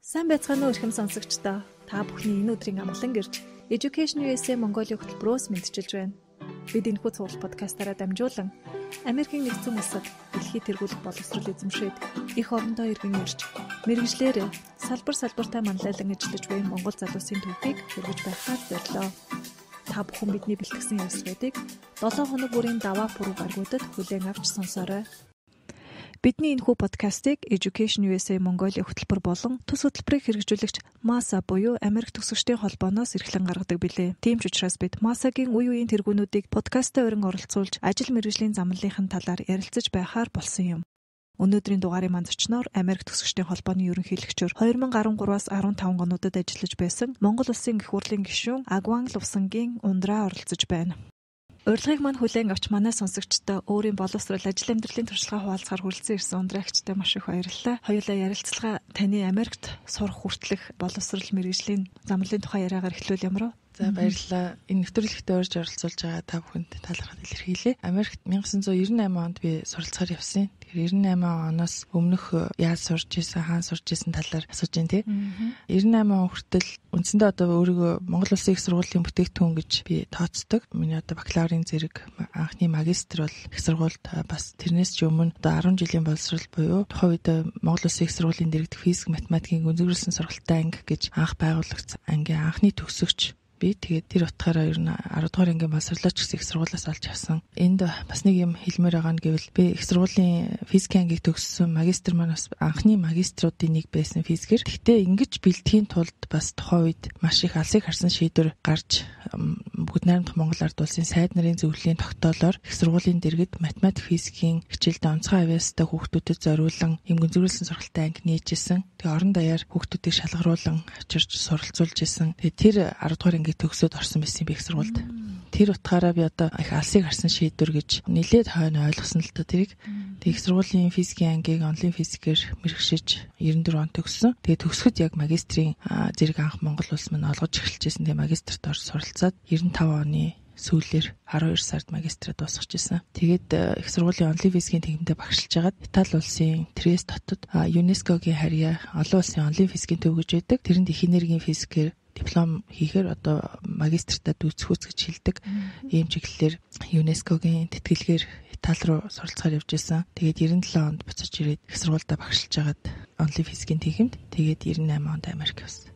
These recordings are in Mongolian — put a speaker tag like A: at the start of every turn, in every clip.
A: Сайн байцгаана уу эрхэм сонсогчдоо. Та бүхний энэ өдрийн амгалан гэрж Education USA Mongolia хөтөлбөрөөс мэдчилж байна. Бид энэхүү цуглах подкастаараа дамжуулан Америкийн нэгдсэн улсад дэлхийд тэргүүлэх боловсрол эзэмшээд их орондоо иргэн ирж мэргэжлэр салбартаа манлайлан ажиллаж буй Монгол залуусын төвхийг хүргэж байхаар зорилоо. Та бүхэн бидний бэлтгэсэн ярилцлагуудыг 7 хоног бүрийн даваа пүрэв гаргуудад хүлээн авч сонсоорой. Бидний энэхүү подкастыг Education USA Mongolia хөтөлбөр болон төс хөтөлбөрийг хэрэгжүүлэгч MASA буюу Америк төгсөгчдийн холбооноос эрхлэн гаргадаг билээ. Тийм ч учраас бид MASA-гийн үе үеийн тэргүүнүүдийг подкастаа өрн оролцуулж ажил мэргэжлийн замналынхын талаар ярилцаж байхаар болсон юм. Өнөөдрийн дугаарын маань зочноор Америк төгсөгчдийн холбооны ерөнхийлөгчөөр 2013-аас 15 онуудад ажиллаж байсан Монгол Улсын гэх хурлын гишүүн Агван Лувсангийн ундраа оролцож байна. Урилгыг маань хүлээн авч манай сонсогчдоо өөрийн боловсрол ажил амьдралын туршлагаа хуваалцахаар хүрэлцэн ирсэн ундраагчтай маш их баярлалаа. Хоёулаа ярилцлага таны Америкт сурах хүртэлх боловсрол мэргэжлийн замналын тухай яриагаар эхлүүл ямар вэ?
B: За баярлалаа. Энэ нэвтрүүлэгтээ урьж оролцуулж байгаа та бүхэнд талархал илэрхийлье. Америкт 1998 онд би суралцахаар явсан. Тэгэхээр 98 оноос өмнөх яаж сурж ирсэн, хаана сурж ирсэн талаар асууж байна тий. 98 он хүртэл үндсэндээ одоо өөрийгөө Монгол Улсын их сургуулийн бүтээгдэхүүн гэж би тооцдог. Миний одоо бакалаврын зэрэг анхны магистр бол их сургуульд бас тэрнээс ч өмнө одоо 10 жилийн боловсрол буюу тухайн үед Монгол Улсын их сургуулийн дэргэдэх физик, математикийн гүнзгийрүүлсэн сургалтын анги гэж анх байгуулагдсан ангийн анхны төгсөгч. Тэгээд тэр утгаараа ер нь 10 дугаар ангийн боловсролооч гэсэн их сургуулиас олж авсан. Энд бас нэг юм хэлмээр байгаа нь гэвэл би их сургуулийн физикийн ангийг төгссөн магистр маань бас анхны магиструудын нэг байсан физикэр. Гэхдээ ингэж бэлтгэхийн тулд бас тухайн үед маш их алсыг харсан шийдвэр гарч бүгд найрамдах Монгол Ард улсын сайд нарын зөвлөлийн тогтоолоор их сургуулийн дэргэд математик физикийн хичээлд онцгой авьяастай хүүхдүүдэд зориулан юм гүнзгийрүүлсэн сургалтын анги нээжсэн. Тэгээ орон даяар хүүхдүүдийг шалгаруулан авчирч суралцуулж исэн. Тэгээ тэр 10 дугаар анги төгсөөд орсон байсан би их сургуульд. Тэр утгаараа би одоо их алсыг харсан шийдвэр гэж нэлээд хойно ойлгосон л та тэрийг. Тэг их сургуулийн физикийн ангийг онлайн физикээр мэрэгшиж 94 он төгссөн. Тэгээ төгсөхөд яг магистрийн зэрэг анх Монгол улс маань олгож эхэлжсэн. Тэгээ магистрт орж суралцаад 95 оны сүүлээр 12 сард магистраа дуусгаж ирсэн. Тэгээд их сургуулийн онлайн физикийн тэмдэгтээ багшилж агаад Итали улсын Триест хотод ЮНЕСКОгийн харьяа олон улсын онлайн физикийн төв гэж байдаг. Тэрэнд их энергийн физикээр диплом хийхээр одоо магистртаа дүүцхүүц гэж хэлдэг. Ийм чиглэлээр ЮНЕСКОгийн тэтгэлгээр Итали руу суралцахаар явж исэн. Тэгээд 97 онд буцаж ирээд их сургуультай багшилж агаад онлайн физикийн тэмдэгт тэгээд 98 онд Америк явсан.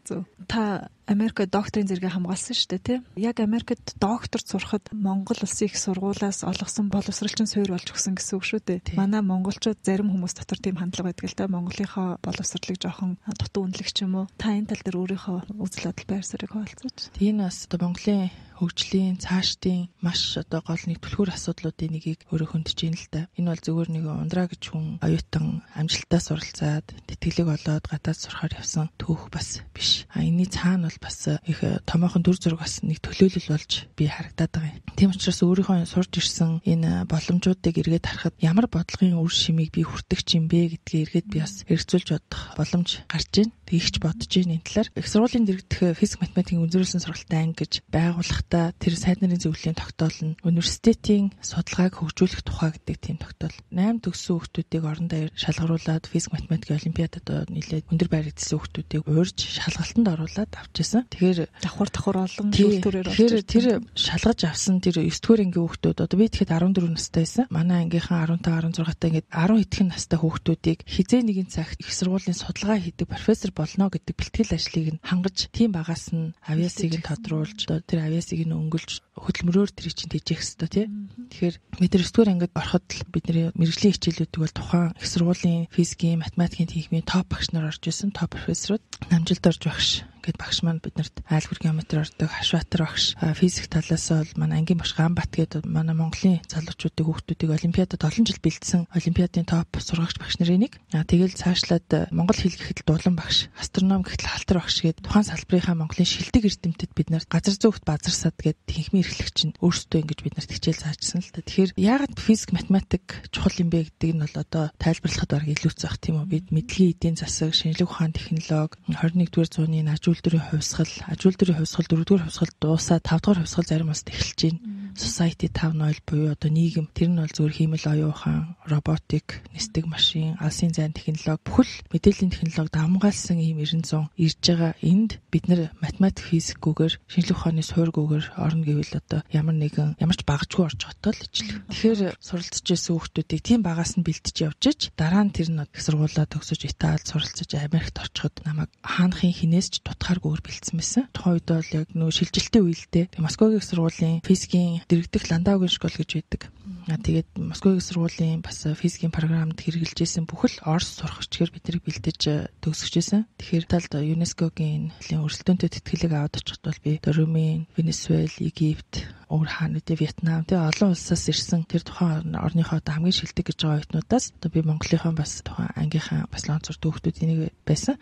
A: Зөв. Та Америкт докторийн зэрэгээ хамгаалсан шүү дээ, тийм? Яг Америкт докторт сурахад Монгол Улсын их сургуулиас олгосон боловсролчин суурь болж өгсөн гэсэн үг шүү дээ. Манай монголчууд зарим хүмүүс дотор тийм хандлага байдаг л та Монголынхоо боловсролыг жоохон дутуу үнэлэх ч юм уу. Та энэ тал дээр өөрийнхөө үзэл бодол байр суурийг хуваалцаач.
B: Тийм бас одоо Монголын хөгжлийн цаашдын маш одоо гол нэг түлхүүр асуудлуудын нэгийг өөрөө хөндөж ийн л та. Энэ бол зөвхөн нэг ундраа гэж хүн оюутан амжилттай суралцаад тэтгэлэг олоод гадаад сурахаар явсан түүх бас биш. Энэний цаана бол бас их томоохон дүр зураг бас нэг төлөөлөл болж би харагдаад байгаа юм. Тийм учраас өөрийнхөө сурж ирсэн энэ боломжуудыг эргээд харахад ямар бодлогын үр шимийг би хүртэх юм бэ гэдгийг эргээд би бас хэрэгцүүлж бодох боломж гарч ийн. Тэгж бодож ийн энэ талаар их сургуулийн дэргэдэх физик, математикийн гүнзгийрүүлсэн сургалтын анги гэж байгуулахдаа тэр сайд нарын зөвлөлийн тогтоол нь университетийн судалгааг хөгжүүлэх тухай гэдэг тийм тогтоол. 8 төгссөн хүүхдүүдийг орон даяар шалгаруулад физик, математикийн олимпиадад нэлээд өндөр байрагдсан хүүхдүүдийг уурж шалгалтанд оруулаад авчихсан. Тэгэхээр
A: давхар олон шүүлтүүрээр
B: авчихсан. Тэр шалгаж авсан тэр 9 дугаар ангийн хүүхдүүд одоо би тэгэхэд 14 настай байсан. Манай ангийнхаа 15, 16 таа ингээд 10 хэдхэн настай хүүхдүүдийг хизээ нэгэн цагт их сургуулийн судалгаа хийдэг профессор болно гэдэг бэлтгэл ажлыг нь хангаж тийм багаас нь авьяасыг нь тодруулж одоо тэр авьяасыг нь өнгөлж хөдөлмөрөөр тэр чинь тэжээх хэвээр тий. Тэгэхээр бид нар 9 дугаар ангид ороход л бидний мэргэжлийн хичээлүүдийг бол тухайн их сургуулийн физикийн, математикийн техникийн топ багш нар орж исэн, топ профессорууд намжилт орж багш гэд багш маань биднэрт айлгуур геометри ордог, Хашбаатар багш, физик талаас бол манай ангийн багш Ганбат гэдэг манай Монголын залуучуудыг хүүхдүүдийг олимпиадад олон жил бэлдсэн олимпиадын топ сургагч багш нарын нэг. Тэгэл цаашлаад Монгол хэл гэхэд дулан багш, астроном гэхэд халтар багш гээд тухайн салбарынхаа Монголын шилдэг эрдэмтэд биднэрт газар зөөгт базарсад гээд техникийн эрхлэгч нь өөрсдөө ингэж биднэрт хичээл заажсан л та. Тэгэхээр яагаад физик, математик чухал юм бэ гэдэг нь бол одоо тайлбарлахад баг илүүц байх тийм үү. Бид мэдлэгийн эдийн засаг, шинжлэх ухааны технологи, 21-р зууны ажилтны хувьсгал, 4-р хувьсгал дуусаад 5-р хувьсгал зарим улсад эхэлж байна. Society 5.0 буюу одоо нийгэм тэр нь бол зүгээр хиймэл оюун ухаан, роботик, нисдэг машин, алсын зайн технологи бүхэл мэдээллийн технологи давмгаалсан ийм 900 ирж байгаа. Энд бид нар математик, физикгүйгээр шинжлэх ухааны суурьгүйгээр орно гэвэл одоо ямар ч багажгүй орж байгаа л ижил. Тэгэхээр суралцж байсан хүүхдүүдийг тийм багаас нь бэлтэж явж иж дараа нь тэр нь их сургуулаа төгсөж Италид суралцж Америкт орчиход намайг хаанхын хинээс ч тутахааргүйгээр бэлдсэн байсан. Тухайн үед бол яг нөө шилжилтийн үеэлдээ Москвагийн их сургуулийн физикийн дэргэдэх Ландаугийн школ гэж байдаг. Тэгээд Москвагийн сургуулийн бас физикийн програмд хэрэгжилжсэн бүхэл Орос сурах чигээр биднийг бэлдэж төгсөжсэн. Тэгэхээр талд ЮНЕСКОгийн өрсөлдөөнтэй тэтгэлэг аваад очиход бол би Румын, Венесуэл, Египт, өөр хаануудын Вьетнам тэгээ олон улсаас ирсэн тэр тухайн орныхоо одоо хамгийн шилдэг гэж байгаа оюутнуудаас одоо би Монголынхаа бас тухайн ангийнхаа бас лонцор дүүхдүүд энийг байсан.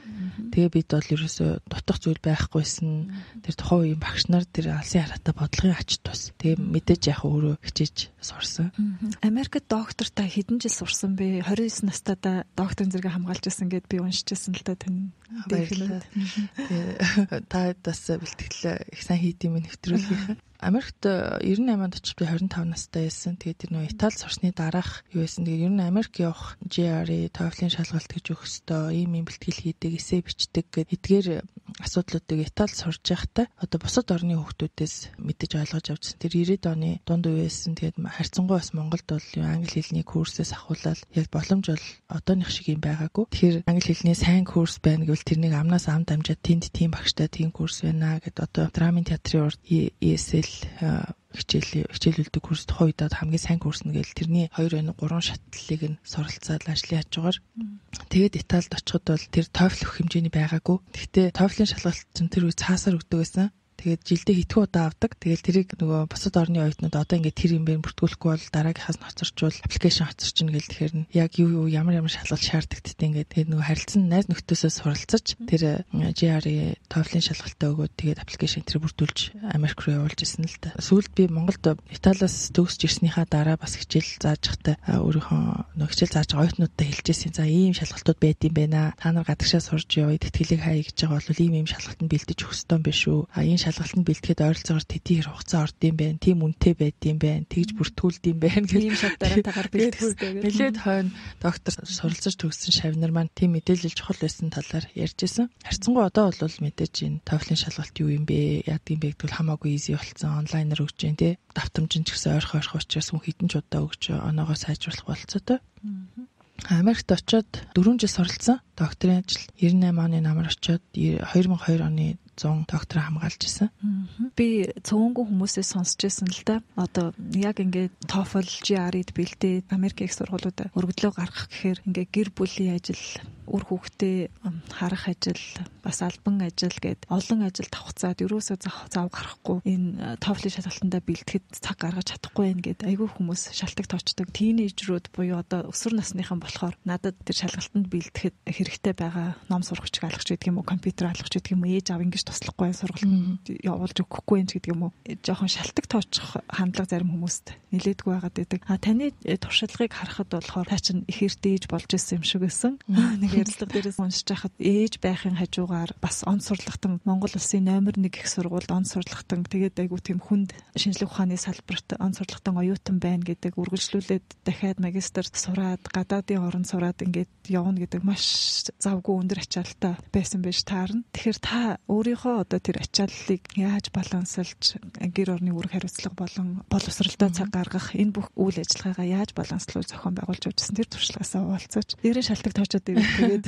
B: Тэгээ бид бол ерөөсөө дутах зүйл байхгүйсэн. Тэр тухайн үеийн багш нар тэр алсын хараатай бодлогын ач тус. Тэгээ мэдээж яг өөрөө хичээж сурсан.
A: Америкт доктортай хэдэн жил сурсан бэ? 29 настайдаа докторийн зэрэг хамгаалж байсан гэд би уншижсэн л да тань.
B: Та бас бэлтгэл их сайн хийдэм нэвтрүүлгийнхаа. Америкт 98 онд очиж би 25 настай байсан. Тэгээд тэр нөө Италид сурсны дараах юу байсан. Тэгээд ер нь Америк явах GRE, TOEFL-ийн шалгалт гэж өгөх ёстой. Ийм бэлтгэл хийдэг, эссе бичдэг гэд эдгээр асуудлуудыг Италид сурж байхдаа одоо бусад орны хүүхдүүдээс мэдэж ойлгож авчихсан. Тэр 90-ад оны дунд үе байсан. Тэгээд харьцангуй бас Монголд бол англи хэлний курсээс ахуулаад яг боломж бол одооных шиг юм байгаагүй. Тэгэхээр англи хэлний сайн курс байна гэвэл тэрнийг амнаас амд амжаад тэнд тийм багштай тийм курс байна гэд одоо драмын театрын урд ESL хичээлүүлдэг курс тухайн үед хамгийн сайн курс нь гээл тэрний 2-3 шатлалыг нь суралцаад ажлын хажуугаар тэгээд Италид очиход бол тэр TOEFL өгөх хэмжээний байгаагүй. Гэхдээ TOEFL-ийн шалгалт чинь тэр үе цаасаар өгдөг байсан. Тэгээд жилдээ хитгүү удаа авдаг. Тэгээд тэрийг нөгөө бусад орны оюутнууд одоо ингээд тэр юм бэ бүртгүүлэхгүй бол дараагийнхаас нь хоцорчвол аппликейшн хоцорч ин гэл тэгэхээр яг юу ямар шалгалт шаарддаг гэдэг ингээд тэгээд нөгөө харилцан найз нөхдөсөө суралцаж тэр GRE TOEFL-ийн шалгалтаа өгөөд тэгээд аппликейшн тэр бүртгүүлж Америк руу явуулж ирсэн л та. Сүүлд би Монголд Италиас төгсөж ирснийхаа дараа бас хичээл зааж захтай өөрийнхөө нөгөө хичээл зааж байгаа оюутнуудтай хэлжсэн. За ийм шалгалтууд байд юм байна. Та нар гадагшаа сурж явъя тэтгэлэг хаяа гэж байгаа бол ийм шалгалтанд бэлдэж өгөх ёстой юм биш үү? Шалгалтанд бэлтгэхэд ойролцоогоор тэдний хэр хугацаа орд юм байна. Тийм үнэтэй байд юм байна. Тэгж бүртгүүлд юм байна гэх юм шиг дараатаагаар бэлтгэх хэрэгтэй. Нэлээд хойно доктор суралцаж төгссөн шавнар маань тийм мэдээлэл чухал байсан талаар ярьжсэн. Харьцангуй одоо бол мэдээж энэ TOEFL-ийн шалгалт юу юм бэ? Яадаг юм бэ гэдэгт хамаагүй easy болсон. Онлайнаар өгч जैन тий. Давтамжин ч гэсэн ойрхон учраас хүн хідэн ч удаа өгч оноогоо сайжруулах болцоотой. Америкт очоод 4 жил суралцсан. Докторийн ажил 98 оны намар очоод 2002 оны 100 доктор хамгаалж исэн.
A: Би цөөнгөө хүмүүсээс сонсч байсан л да. Одоо яг ингээд TOEFL, GRE-д бэлдээд Америк их сургуулиудад өргөдлөө гаргах гэхээр ингээд гэр бүлийн ажил, үр хүүхдээ харах ажил, бас албан ажил гээд олон ажил давхцаад ерөөсөө зав гарахгүй энэ TOEFL-ийн шалгалтандаа бэлтгэхэд цаг гаргаж чадахгүй байх гээд айгүй хүмүүс шалтгаан тоочдог. Тийнейжрүүд буюу одоо өсвөр насныхан болохоор надад тэр шалгалтанд бэлтгэхэд хэрэгтэй байгаа ном сурахч алгах гэдэг юм уу, компьютер алгах гэдэг юм уу, ээж аав ингэж туслахгүй сургалт явуулж өгөхгүй юм гэдэг юм уу. Жохон шалтгаан тоочих хандлага зарим хүмүүст нилээдгүй байгаад байдаг. Таны туршлагыг харахад болохоор та чинь их эрт ээж болж исэн юм шиг байсан. Нэг ярилцлага дээрээс уншиж байхад ээж байхын хажуугаар бас он сурлагтан Монгол улсын номер 1 их сургуульд он сурлагтан тэгээд айгу тийм хүнд шинжлэх ухааны салбарт он сурлагтан оюутан байна гэдэг үргэлжлүүлээд дахиад магистр сураад гадаадын орнд сураад ингээд явна гэдэг маш завгүй өндөр ачаалттай байсан байж таарна. Тэгэхээр та өөрийнхөө одоо тэр ачааллыг яаж балансалж гэр орны үүрэг хариуцлага болон боловсролтой цаг гаргах энэ бүх үйл ажиллагаагаа яаж баланслуулж зохион байгуулж явжсэн тэр туршлагаасаа уулзаж дээрээ шалтгаан тоочод ирээд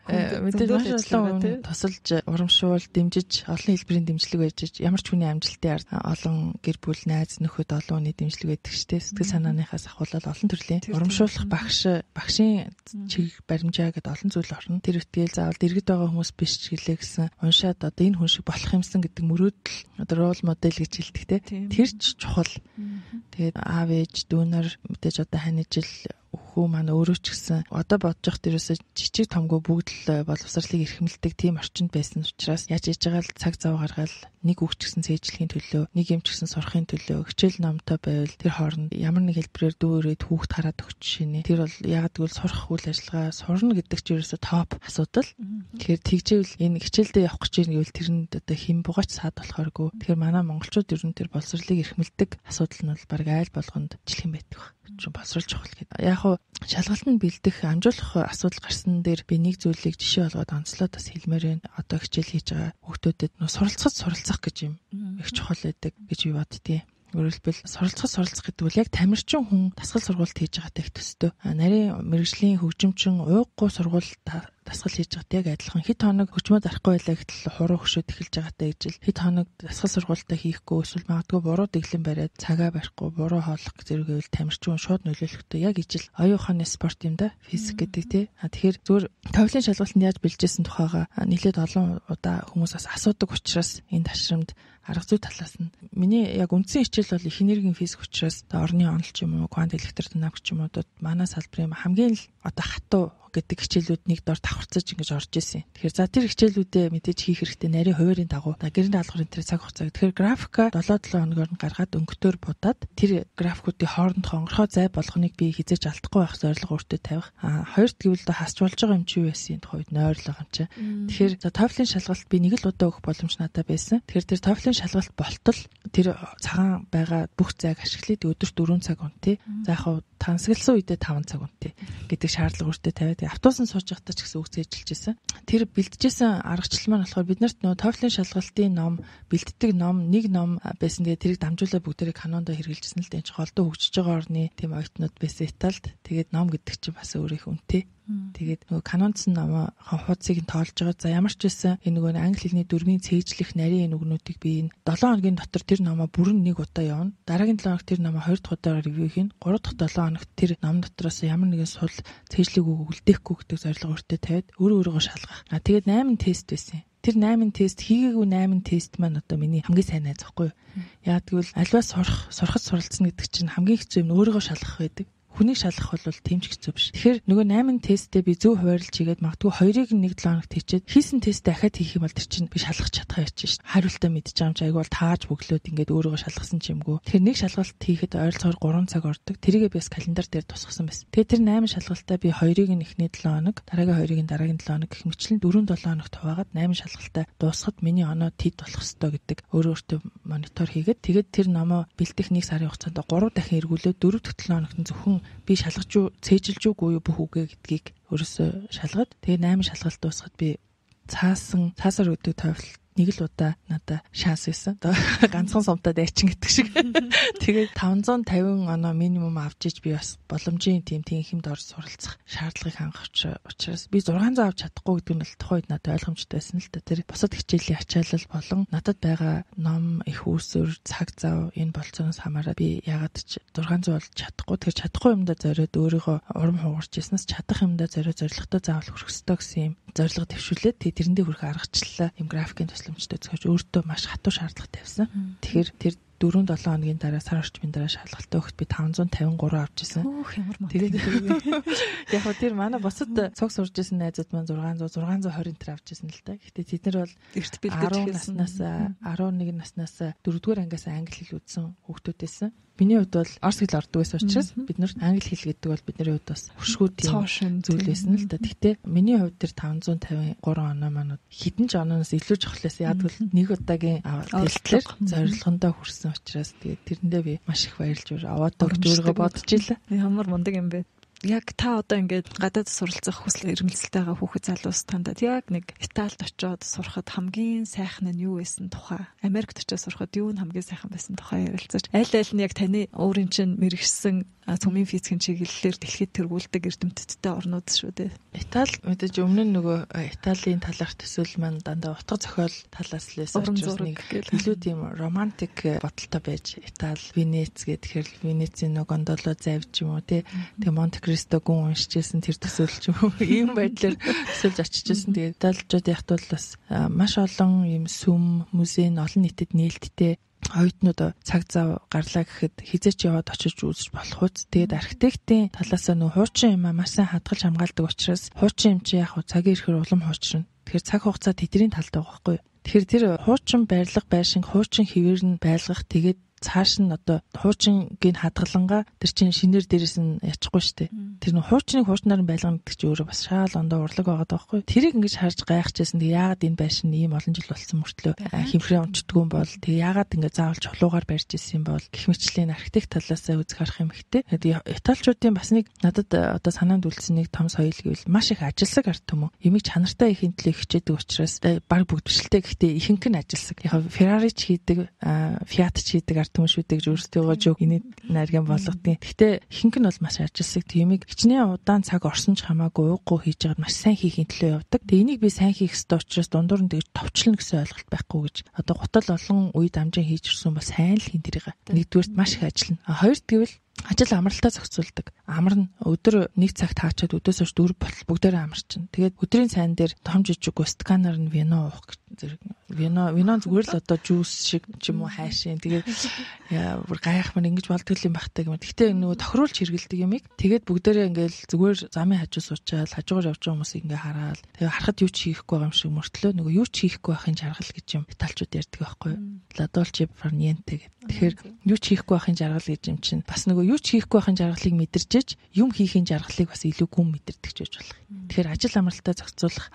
B: мэдээж маш олон тусалж урамшуул дэмжиж олон хэлбэрийн дэмжлэг байж ямар ч хүний амжилтын ард олон гэр бүл найз нөхөд олон хүний дэмжлэг байдаг штэ сэтгэл санааныхаас ахуулаад олон төрлийн урамшуулах багшийн чиг баримжаа гэдэг олон зүйл орно. Тэр үтгэл заавал дэргэд байгаа хүмүүс биш ч гэлээ гэсэн уншаад одоо энэ хүн шиг болох юмсан гэдэг мөрөөдөл одоо рол модель гэж хэлдэг те. Тэр ч чухал. Тэгээд аав ээж дүүнер мэдээж одоо хань жил өхөө маань өөрөө ч гэсэн одоо бодож явах дээрээс жижиг томгүй бүгд л боловсролыг эрхэмлдэг тийм орчинд байсан учраас яаж ээж байгаа л цаг зав гаргаад нэг үг ч гэсэн цээжлэхийн төлөө, нэг юм ч гэсэн сурахын төлөө хичээл номтой байвал тэр хооронд ямар нэг хэлбэрээр дүүрээд хүүхд хараад өгч шинэ. Тэр бол ягаад гэвэл сурах үйл ажиллагаа сурна гэдэг чинь ерөөсө топ асуудал. Тэгэхээр тэгжээвэл энэ хичээлдээ явах гэж байвал тэрэнд одоо хэм бугаач саад болохооргүй. Тэгэхээр манай монголчууд ер нь тэр боловсролыг эрхэмлдэг асуудал нь бол баг айл болгонд жилхэн байдаг баг. Боловсрол чухал гэдэг. Яг хуу шалгалтанд бэлдэх амжуулах асуудал гарсан дээр би нэг зүйлийг жишээ болгоод онцлоод бас хэлмээр байна. Одоо хичээл хийж байгаа хүүхдүүдэд суралцах гэж юм их чухал байдаг гэж би боддتي. Өөрөлдвөл суралцах гэдэг бол яг тамирчин хүн дасгал сургалт хийж байгаатай их төстэй. Нарийн мэрэгжлийн хөгжимчин ууггүй сургалт дасгал хийж байгаатай яг адилхан. Хэд хоног хөчмөө зарахгүй байлаа гэтэл хуруу хөшөөд эхэлж байгаатай гэж л хэд хоног дасгал сургалтаа хийхгүй эсвэл магадгүй буруу дэглэн бариад цагаа барихгүй буруу хооллох зэрэгэвэл тамирчин шууд нөлөөлөхтэй яг ижил оюун ухааны спорт юм да физик гэдэг тий. Тэгэхээр зүгээр товлын шалгалтанд яаж бэлжсэн тухайга нэлээд олон удаа хүмүүс бас асуудаг учраас энэ ташрамд арга зүй талаас нь миний яг үндсэн хичээл бол их энергийн физик учраас орны онол ч юм уу квант электродинамик ч юм уу манай салбарын хамгийн л одоо хатуу гэдэг хичээлүүд нэг дор давхарцаж ингэж орж исэн. Тэгэхээр за тэр хичээлүүдээ мэдээж хийх хэрэгтэй нарийн хуваарийн дагуу гэрэн даалгаврын тэр цаг хугацаа. Тэгэхээр графика 7 хоногоор нь гаргаад өнгөтөр будаад тэр графикуудын хооронд хонгорхоо зай болгоныг би хизээж алдахгүй байх зорилго өөртөө тавих. Хоёрт гэвэл хасч болж байгаа юм чи юу байсан тухайд нойрлоо юм чи. Тэгэхээр за TOEFL-ийн шалгалт би нэг л удаа өгөх боломж надад байсан. Тэгэхээр тэр TOEFL-ийн шалгалт болтол тэр цагаан байгаа бүх зайг ашиглаад өдөрт 4 цаг унтъя. За яг тансагласан үедээ 5 цаг унтъя гэдэг шаардлага өөртөө тавиад автобусан сууж байхдаа ч гэсэн үг цээжилж байсан. Тэр бэлдэжсэн аргачлал маань болохоор биднэрт нөө TOEFL-ийн шалгалтын ном, бэлддэг ном, нэг ном байсан. Тэгээд тэрийг дамжуулаад бүгдээрээ канондо хэрэгжилсэн л дээ. Голдоо хөгжиж байгаа орны тийм оюутнууд байсан Италид. Тэгээд ном гэдэг чинь бас өөр их үнэтэй. Тэгээд нөгөө канондсан ном хуудсыг нь тоолж байгаа. За ямар ч байсан энэ нөгөө англи хэлний дүрмийн цээжлэх нарийн нүгнүүдийг би энэ 7 хоногийн дотор тэр номоо бүрэн нэг удаа явна. Дараагийн 7 хоног тэр номоо 2 дахь удаа ревю хийн. 3 дахь 7 хоногт тэр ном дотроос ямар нэгэн сул цээжлийг үлдээхгүй гэдэг зорилго өөртөө тавиад өөрөөгөө шалгах. Тэгээд 8 тест байсан. Тэр 8 тест хийгээгүй 8 тест маань одоо миний хамгийн сайн найз байхгүй юу? Яг тэгвэл альваа сурахад суралцсан гэдэг чинь хамгийн хэцүү юм өөрөөгөө шалгах байдаг. Хүнийг шалгах бол тийм ч хэцүү биш. Тэгэхээр нөгөө 8 тесттэй би зөв хуваарлж хийгээд магадгүй 2-ыг нэг 7 хоногт хийчихэд хийсэн тест дахиад хийх юм бол тэр чинь би шалгах чадхаа яач шээ. Хариултаа мэдчих юм чи айгуул тааж бөглөөд ингээд өөрөөгөө шалгасан ч юмгүй. Тэгэхээр нэг шалгалт хийхэд ойролцоогоор 3 цаг ордог. Тэрийгээ би бас календар дээр тусгасан байсан. Тэгээд тэр 8 шалгалтаа би 2-ыг нь эхний 7 хоног, дараагийн 2-ыг нь дараагийн 7 хоног гэх мэтлэн 4-7 хоногт хуваагаад 8 шалгалтаа дуусгад миний оноо тед болох ёстой гэдэг өөртөө монитор хийгээд тэгээд тэр номоо бэлдэх 1 сарын хугацаанд 3 дахин эргүүлээд 4 дахь 7 хоногт нь зөвхөн би шалгаж юу цээжилж үгүй бүх үгээ гэдгийг өөрөөсөө шалгаад тэгээ 8 шалгалт дуусгаад би цаасаар өгдөг TOEFL нэг л удаа надад шанс байсан. Ганцхан сумтаа дайчин гэдэг шиг. Тэгээд 550 оноо минимум авч иж би бас боломжийн тийм хэмд орж суралцах шаардлагыг хангах учраас би 600 авч чадахгүй гэдэг нь л тухайд надад ойлгомжтой байсан л да. Тэр бусад хичээлийн ачаалал болон надад байгаа ном, их үүсвэр, цаг зав энэ болцооноос хамаараа би ягаад ч 600 болж чадахгүй. Тэгэхээр чадахгүй юмдаа зориод өөрийгөө урам хугарч яснаас чадах юмдаа зориод зорилготой заавал хүрэх ёстой гэсэн юм зорилго төвшүүлээд тэрэндээ хүрэх аргачлалаа юм графикийн төсөлмжтэй зөвхөн өөртөө маш хатуу шаардлага тавьсан. Тэгэхээр тэр 4-7 хоногийн дараа сар орчмын дараа шалгалтаа өгөхөд би 553 авч ирсэн. Тэгээд яг хөө тэр манай босод цог сурж исэн найзууд маань 620 тэр авч ирсэн л та. Гэхдээ тэд нар бол эрт бэлдэж наснаас 11 наснаас 4-р ангиас англи хэл үзсэн хүүхдүүд байсан. Миний хувьд бол орс хэл ордог байсан учраас бид нар англи хэл гэдэг бол бидний хувьд бас хөшгүү тийм зүйл байсан л да. Гэхдээ миний хувьд тэр 553 оноо маань хідэн ч оноос илүү жохлоос яадгүй нэг удаагийн тэлтлэр зорилгондоо хүрсэн учраас тэгээд тэрэндээ би маш их баярлж аваад өгч өөрийгөө бодож илаа.
A: Ямар мундаг юм бэ? Яг та одоо ингээд гадаад суралцах хүсэл эрмэлзэлтэй байгаа хүүхэд залуус тандад яг нэг Италид очиод сурахад хамгийн сайхан нь юу байсан тухай, Америкт очиод сурахад юу нь хамгийн сайхан байсан тухай ярилцаж, аль нь яг таны өөрийн чинь мэрэгсэн цөмийн физикийн чиглэлээр дэлхийд тэргүүлдэг эрдэмтдтэй орнууд шүү дээ.
B: Итали мэдээж өмнө нь нөгөө Италийн талаарх төсөөл маань дандаа утга зохиол талаас л байсан учраас нэг илүү тийм романтик бодолтой байж Итали, Венец гэхээр Венецийн нөгөө гондоло завж юм уу тий. Тэгээ Монте Кристо гүн уншижсэн тэр төсөөл ч юм уу ийм байдлаар төсөөлж очижсэн. Тэгээ Италичууд яхад бол бас маш олон ийм сүм, музей, олон нийтэд нээлттэй оюутнууд цаг зав гарлаа гэхэд хизээч яваад очиж үзэж болох үз. Тэгээд архитектийн талаас нь хуучин юм маш сайн хадгалж хамгаалдаг учраас хуучин юм чи яг цагийн ирэхээр улам хуучрна. Тэгэхээр цаг хугацаа тэдний талд байгаа байхгүй юу? Тэгэхээр тэр хуучин байрлах байшин, хуучин хэвээр нь байлгах, тэгээд цааш нь одоо хуучингийн хадгалангаа тэр чинь шинээр дээрээс нь ячихгүй штэ. Тэр нь хуучныг хуучнаар нь байлгана гэдэг чинь өөрөө бас шаал ондоо урлаг байгаа байхгүй. Тэрийг ингэж харж гайхажсэн. Тэгээ яагаад энэ байшин ийм олон жил болсон мөртлөө хэмхрээ унцдаггүй юм бол тэгээ яагаад ингэ заавал чулуугаар барьж ирсэн юм бол гэх мэтчлийн архитект талаасаа үзэх харах юм ихтэй. Тэгээд Италичуудын бас нэг надад одоо санаанд үлдсэн нэг том соёл гэвэл маш их ажилсаг арт түмэн. Ямиг чанартай ихийн төлөө хичээдэг учраас баг бүгд бишэлтэй гэхдээ ихэнх нь ажилсаг. Яг Ferrari ч хийдэг, Fiat ч хийдэг арт түмэн шүү дээ гэж өөрсдөө жоо энэ нарийн болгодгийн. Гэхдээ ихэнх нь бол маш ажилсаг. Тиймийг хичнээн удаан цаг орсон ч хамаагүй ууггүй хийж байгаад маш сайн хийхин төлөө явдаг. Тэгээ энийг би сайн хийх ёстой учраас дундуур нь тэгж товчлно гэсэн ойлголт байхгүй гэж. Одоо гутал олон үед амжин хийж ирсэн бол сайн л хийн тэрийг. Нэгдүгээрт маш их ажиллана. Хоёрт гэвэл ажил амралтаа зохицуулдаг. Амар нь өдөр нэг цагт хаачаад өдөөс хойш 4 болтол бүгдээрээ амарчин. Тэгээд өдрийн сайн дээр том жижиг сканаар нь вино уух зэрэг. Вино зүгээр л одоо жуус шиг ч юм уу хайшин. Тэгээд бүр гайхмар ингэж болдог юм багтаа гэмээр. Гэхдээ нөгөө тохируулж хэрэгэлдэг юмыг тэгээд бүгдээрээ ингээл зүгээр замын хажуу суучаал хажуугаар явж байгаа хүмүүсийг ингээ хараад тэгээд харахад юу ч хийхгүй байгаа юм шиг мөртлөө нөгөө юу ч хийхгүй байхын жаргал гэж юм Италичууд ярьдаг байхгүй юу? Ладолче фарниенте гэдэг. Тэгэхээр юу ч хийхгүй байхын жаргал гэж юм чинь бас нөгөө юу ч хийхгүй байхын жаргалыг мэдэрчээж юм хийхин жаргалыг бас илүү гүн мэдэрдэг ч гэж болох. Тэгэхээр ажил амралтаа зохицуулах,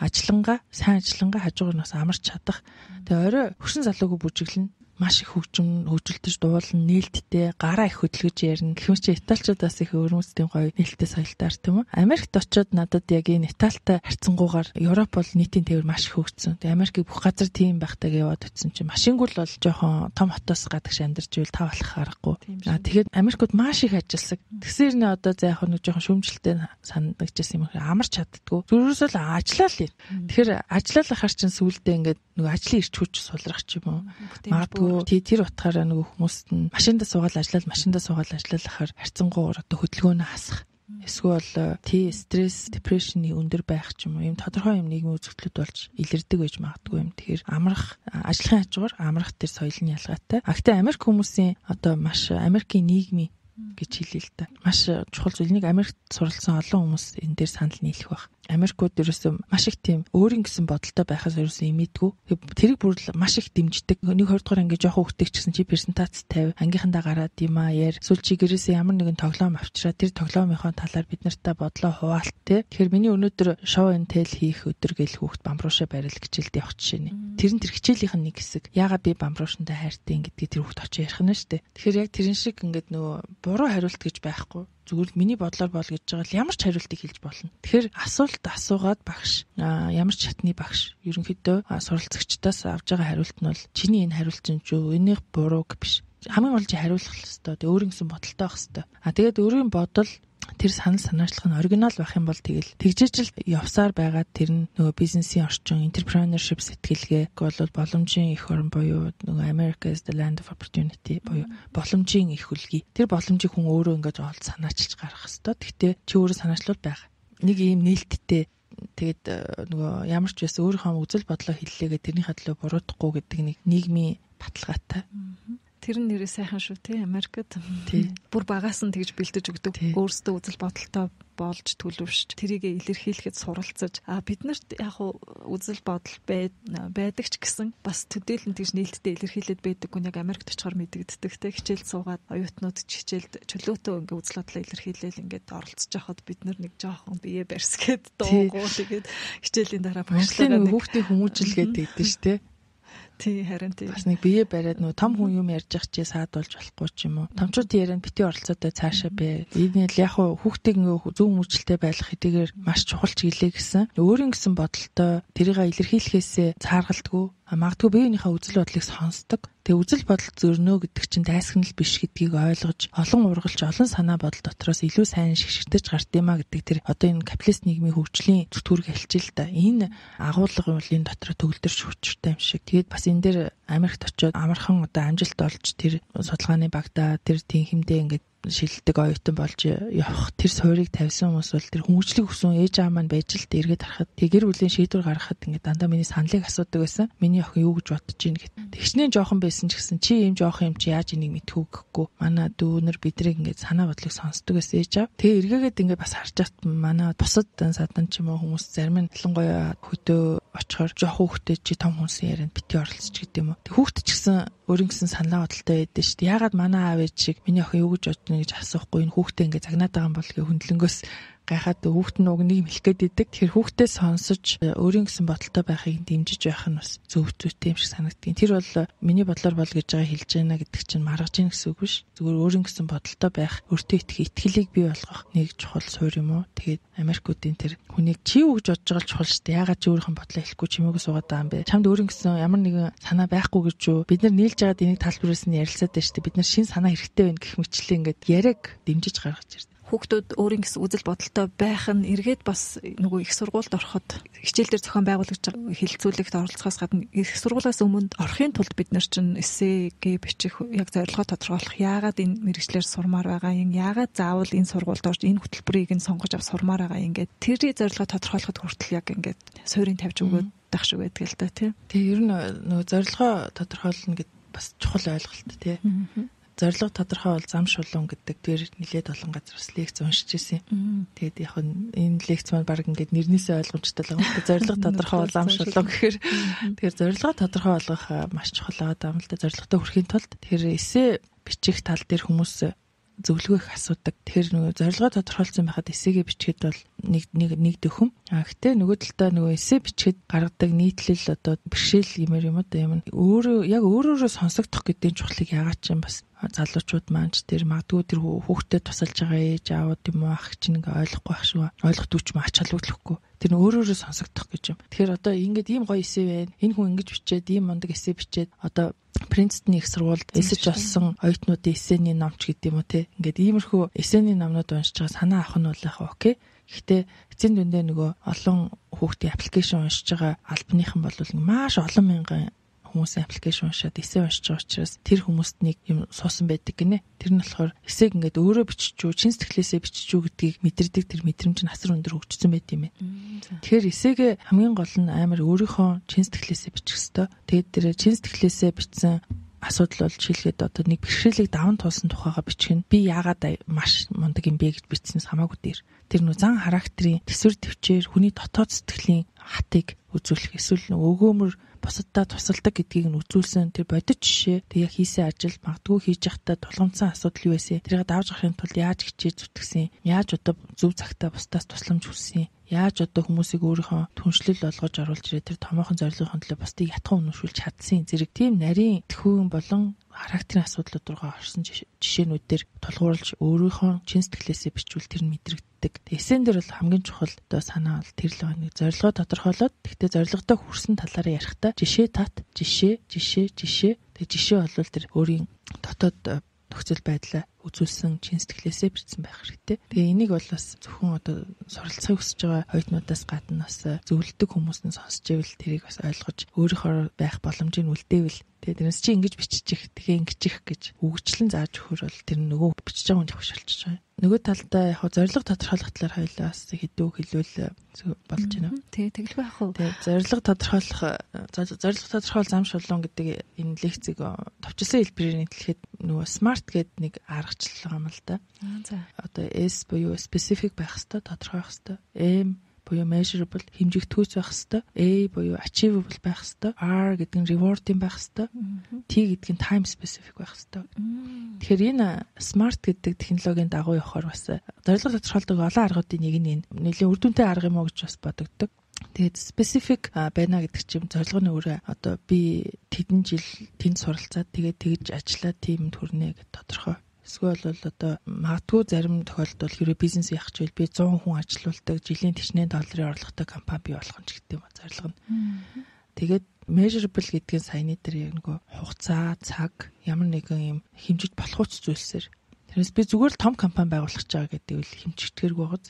B: сайн ажиллангаа хажуугаар нь бас амарч чадах. Тэгээ орой хөшин залуугүй бүжиглэн маш их хөгжилтөж дуулан нээлттэй гараа их хөдөлгөж ярина. Гэхмэч Италичуудаас их өрмөцтийн гоё нээлттэй соёлтой арт юм уу? Америкт очиод надад яг энэ Италитай харьцангуйгаар Европ бол нийтийн тээвэр маш их хөгжсөн. Тэгээ Америкийг бүх газар тийм байхтайг яваад утсан чинь машингуул бол жоохон том хотоос гадагш амьдарч ивэл тав болох аргагүй. Тэгээд Америкууд маш их ажилласан. Тэгсээр нэ одоо за яг нэг жоохон шүүмжлэлтэй санагдчихсан юм. Амарч чаддгүй. Зүрхөөсөө л ажиллаа л юм. Тэгэхээр ажиллаалахаар чинь сүүлдээ ингээд нөгөө ажлын ирч хүч сулрах ч юм уу. Магадгүй тэр утгаараа нөгөө хүмүүст нь машиндаа суугаад ажиллахаар харьцангуйгаар одоо хөдөлгөөнөө хасах. Эсвэл стресс, депрешний өндөр байх ч юм уу. Ийм тодорхой юм нийгмийн үзэгдлүүд болж илэрдэг байж магадгүй юм. Тэгэхээр амрах, ажлын хажуугаар амрах тэр соёлын ялгаатай. Гэхдээ Америк хүмүүсийн одоо маш Америкийн нийгмийн гэж хэлээ л да. Маш чухал зүйл. Нэг Америкт суралцсан олон хүмүүс энэ дээр санал нийлэх байх. Америкууд ерөөсөө маш их тийм өөрийн гэсэн бодолтой байхаас ерөөсөө имэдгүй. Тэрийг бүр маш их дэмждэг. 1-2 дугаар анги жоохон хөвгтэй ч гэсэн чи презентац 50 ангийнхандаа гараад юм аа яар. Эсвэл чи гэрээсээ ямар нэгэн тоглоом авчираа тэр тоглоомынхоо талаар бид нартай бодлоо хуваалт те. Тэгэхээр миний өнөөдөр show and tell хийх өдөр гэл хүүхд бамбруушаа барил хичээлд явах жишээ нэ. Тэр нь тэр хичээлийнх нь нэг хэсэг. Яагаад би бамбрууштай хайртай гэдгийг тэр хүүхд очиж ярих нь шүү дээ. Тэгэхээр яг тэрэн шиг ингээд нөгөө буруу хариулт гэж байхгүй. Зүгээр миний бодлоор бол гэж байгаа л ямар ч хариултыг хэлж болно. Тэгэхээр асуулт асуугаад багш ямар ч чатны багш ерөнхийдөө суралцагчдаас авж байгаа хариулт нь бол чиний энэ хариулт чинь юу энийх буруу биш. Хамгийн гол чи хариулах хэвээр. Тэгээ өөрийн гэсэн бодолтой байх хэвээр. Тэгээд өөрийн бодол тэр санал санаачлах нь оригинал байх юм бол тэгэл тэгжээч л явсаар байгаад тэр нь нөгөө бизнесийн орчин, entrepreneurship сэтгэлгээ бол боломжийн эх орн буюу нөгөө America is the land of opportunity буюу боломжийн эх үлгий. Тэр боломжийг хүн өөрөө ингэж олж санаачилж гаргах хэвээр. Гэхдээ чи өөрөө санаачлал байх. Нэг ийм нээлттэй тэгээд нөгөө ямар ч байсан өөрийнхөө үзэл бодлоо хэллээгээ тэрнийхээ төлөө буруутгахгүй гэдэг нэг нийгмийн баталгаатай.
A: Тэр нь нэрээ сайхан шүү тий Америкт. Бүр багаас нь тэгж бэлдэж өгдөг. Өөрсдөө үзэл бодолтой болж төлөвшж тэрийг илэрхийлэхэд суралцаж бид нарт яг үзэл бодол байдаг ч гэсэн бас төдийлөн тэгж нээлттэй илэрхийлээд байдаггүй яг Америкт очихоор мэдэгддэг те хичээл суугаад оюутнууд ч хичээлд чөлөөтөө ингээ үзэл бодлоо илэрхийлээл ингээд оролцож байхад бид нар нэг жоохон бие барьсгээд дуугуу тэгээд хичээлийн дараа багшлаа
B: хүүхдийн хүмүүжлгээд байдаг ш те.
A: Тий харин тий.
B: Бас нэг бие бариад нөө том хүн юм ярьж ах чи саадуулж болохгүй ч юм уу. Томчууд ярианд бити оролцоотой цаашаа бэ. Энэ л яг хүүхдийг зөв хүмүүжлэлтэй байх хэдийгээр маш чухал ч гэлээ гэсэн. Өөрийн гэсэн бодолтой тэрийг илэрхийлэхээсээ цааргалдаггүй. Магадгүй биеийнхээ үзэл бодлыг сонсдог. Тэгээ үзэл бодол зөрнөө гэдэг чинь дайсагнал биш гэдгийг ойлгож, олон ургалж, олон санаа бодол дотроос илүү сайн шигшэртэж гарт юмаа гэдэг тэр одоо энэ капиталист нийгмийн хөгжлийн зүтгүүрийг хэлчихэл та. Энэ агуулга бол энэ дотор төгөлдөрч хүчтэй юм шиг. Тэгээд бас энэ дээр Америкт очиод амархан одоо амжилт олж тэр судалгааны багтаа тэр тийм хэмдээ ингээд шилдэг оюутан болж явах тэр суурийг тавьсан хүмүүс бол тэр хүмүүжлэг хүсэн ээж аав маань байж л эргээд харахад тэг гэр бүлийн шийдвэр гаргахад ингээд дандаа миний саналыг асуудаг байсан. Миний охин юу гэж бодож ийн гэд. Тэгчнээ жоохон байсан ч гэсэн чи ийм жоохон юм чи яаж энийг мэдхүү гэхгүй. Манай дүүнэр бидрийг ингээд санаа бодлыг сонсдог байсан ээж аав. Тэгээ эргээгээд ингээд бас харж чад манай бусад садан ч юм уу хүмүүс зарим нь ялангуяа хөдөө очихоор жоохон хүүхдээ чи том хүнсэн ярианд бити оролцож гэдэг юм уу. Тэг хүүхд ч гэсэн өөрийн гэсэн санаа бодолтой байдсан шүү дээ. Яагаад манай аав ээж шиг миний охин юу гэж бодно гэж асуухгүй энэ хүүхдээ ингээд загнаад байгаа юм бол гээ хөндлөнгөөс гайхаад хүүхд нь уг нэг мэлэх гээд идэг. Тэр хүүхдээ сонсож өөрийн гэсэн бодолтой байхыг дэмжиж байх нь бас зөв зүйтэй юм шиг санагдтiin. Тэр бол миний бодлоор бол гэж байгаа хэлж байна гэдэг чинь маргаж ийн гэсэн үг биш. Зүгээр өөрийн гэсэн бодолтой байх, өөртөө итгэлийг бий болгох нэг чухал суурь юм уу. Тэгээд Америкуудын тэр хүнийг чи юу гэж бодож байгаа л чухал шүү дээ. Яагаад чи өөрийнхөө бодлоо хэлэхгүй чимээгүй суугаад байгаа юм бэ? Чамд өөрийн гэсэн ямар нэгэн санаа байхгүй гэж юу? Бид нар нийлж байгаад энийг тайлбарлуулсан нь ярилцаад байна шүү дээ. Бид нар шин санаа хэрэгтэй байна гэх мэтлээ ингээд яриаг дэмжиж гаргаж ирсэн.
A: Хүүхдүүд өөрийн гэсэн үзэл бодолтой байх нь эргээд бас нөгөө их сургуульд ороход хичээл дээр зохион байгуулагч хилцүүлэгт оролцохоос гадна их сургуулиас өмнө орохын тулд бид нар чинь эсseгээ бичих яг зорилгоо тодорхойлох яагаад энэ мэргэжлэр сурмаар байгаа юм яагаад заавал энэ сургуульд орж энэ хөтөлбөрийг нь сонгож авч сурмаар байгаа юм ингээд тэрний зорилгоо тодорхойлоход хүртэл яг ингээд суурийг тавьж өгөөд байх шиг байдаг л да тийм.
B: Тэгээ ер нь нөгөө зорилгоо тодорхойлно гэд бас чухал ойлголт тийм. Зорилго тодорхой бол зам шулуун гэдэг тэр нэлээд олон газар бас лекц уншиж ирсэн. Тэгээд яг энэ лекц маань баг ингээд нэрнээсээ ойлгомжтой л байгаа. Зорилго тодорхой бол зам шулуун гэхээр тэгэхээр зорилго тодорхой болгох маш чухал байгаа юм л да. Зорилготой хүрэхийн тулд тэр эссе бичих тал дээр хүмүүс зөвлөгөө их асуудаг. Тэгэхээр нөгөө зорилгоо тодорхойлсон байхад эсээгээ бичгээд бол нэг дөхөм. Гэхдээ нөгөө талдаа нөгөө эсээ бичгээд гаргадаг нийтлэл одоо бэрхшээл юмэр юм да юм. Өөрөөрөө сонсогдох гэдэг чухлыг яагаад ч юм бас залуучууд маань ч тэр магадгүй тэр хүүхдэд тусалж байгаа ээж аауд юм уу ах чинь ингээ ойлгохгүй байх шүү. Ойлгохгүй ч юм ач холбогдлохгүй. Тэр нь өөрөөрөө сонсогдох гэж юм. Тэгэхээр одоо ингээд ийм гоё эсээ байна. Энэ хүн ингэж бичээд ийм мундаг эсээ бичээд одоо Принстон их сургуульд эсэж болсон оюутнуудын эсээний номч гэдэг юм уу те. Ингээд иймэрхүү эсээний номнууд уншиж байгаа санаа авах нь бол яг окей. Гэхдээ эцсийн дүндээ нөгөө олон хүүхдийн аппликейшн уншиж байгаа албаныхан бол маш олон мянган хүмүүсийн аппликейшн уншаад эсээ уншиж байгаа учраас тэр хүмүүст нэг юм суусан байдаг гинэ. Тэр нь болохоор эсээг ингээд өөрөө биччихүү, чин сэтгэлээсээ биччихүү гэдгийг мэдэрдэг тэр мэдрэмж нь асар өндөр хөгжсөн байт юм ээ. Тэгэхээр эсээгээ хамгийн гол нь амар өөрийнхөө чин сэтгэлээсээ бичих хэвээр. Тэгээд тэр чин сэтгэлээсээ бичсэн асуудал бол жишээлгээд одоо нэг бэрхшээлийг даван туулсан тухайга бичих нь би яагаад маш мундаг юм бэ гэж бичснээс хамаагүй дээр. Тэр нөө зан характерын төсвөр төвчээр хүний дотоод сэтгэлийн хатыг үзүүлэх эсвэл өгөөмөр бусаддаа тусалдаг гэдгийг нь үзүүлсэн тэр бодит жишээ тэг яг хийсэн ажил магадгүй хийж явахдаа тулгамдсан асуудал юу вэ? Тэрийг давж гарахын тулд яаж хичээж зүтгэсэн? Яаж одоо зөв цагтаа бусдаас тусламж хүссэн? Яаж одоо хүмүүсийг өөрийнхөө түншлэл болгож оруулж ирээ тэр томоохон зорилгын төлөө бусдыг ятхан өнөшүүлж чадсан зэрэг тийм нарийн төхөөн болон характерын асуудлууд руугаа орсон жишээнүүд дээр тулгуурлаж өөрийнхөө чин сэтгэлээсээ бичвэл тэр нь мэдрэгддэг. Эсэн дээр бол хамгийн чухал одоо санаа бол тэр л нэг зорилгоо тодорхойлоод тэгтээ зорилготой хүрсэн талаараа ярихдаа жишээ тат жишээ тэг жишээ бол тэр өөрийн дотоод нөхцөл байдлаа үзүүлсэн чин сэтгэлээсээ бичсэн байх хэрэгтэй. Тэгээ энийг бол бас зөвхөн одоо суралцахыг хүсэж байгаа оюутнуудаас гадна бас зөвлөдөг хүмүүс нь сонсч ивэл тэрийг бас ойлгож өөрийнхөө байх боломжийг үлдээвэл тэгээ тэрнээс чи ингэж биччих тэгээ ингэчих гэж үгчлэн зааж өгөхөр бол тэр нөгөө бичиж байгаа хүн хөвшөлчих байгаа. Нөгөө талдаа яг зорилго тодорхойлох талаар хоёлаа бас хэдүү хэлвэл болж байна.
A: Тэгээ тэглэх байх уу?
B: Тэгээ зорилго тодорхойлох зам шулуун гэдэг энэ лекцийг товчлсон хэлбэрээр нийтлэхэд нөгөө smart гэдэг нэг аргачлал байгаа юм л да.
A: За.
B: Одоо S буюу specific байх хэвээр тодорхой байх хэвээр. M буюу measurable хэмжигдэхүйц байх хэвээр. A буюу achievable байх хэвээр. R гэдэг нь rewarding байх хэвээр. T гэдэг нь time specific байх хэвээр. Тэгэхээр энэ smart гэдэг технологийн дагуу явахаар бас зорилго тодорхойлдог олон аргуудын нэг нь нэлийн үр дүнтэй арга юм уу гэж бас бодогддог. Тэгээд specific байна гэдэг чинь зорилго нь өөрөө одоо би тэдэн жил тэнд суралцаад тэгээд тэгж ажиллаад тиймд хүрнэ гэдэг тодорхой. Эсвэл бол одоо магадгүй зарим тохиолдолд хэрэв бизнес яах ч би 100 хүн ажилуулдаг жилийн $40 орлоготой компани бий болгох ч гэдэг юм зорилго нь. Тэгээд measurable гэдгийн саяны дээр яг нөгөө хугацаа, цаг ямар нэгэн юм хэмжиж болох зүйлсээр тэрнээс би зүгээр л том компани байгуулах гэж байгаа гэдэг үл хэмжигдэхэрэг байгааз.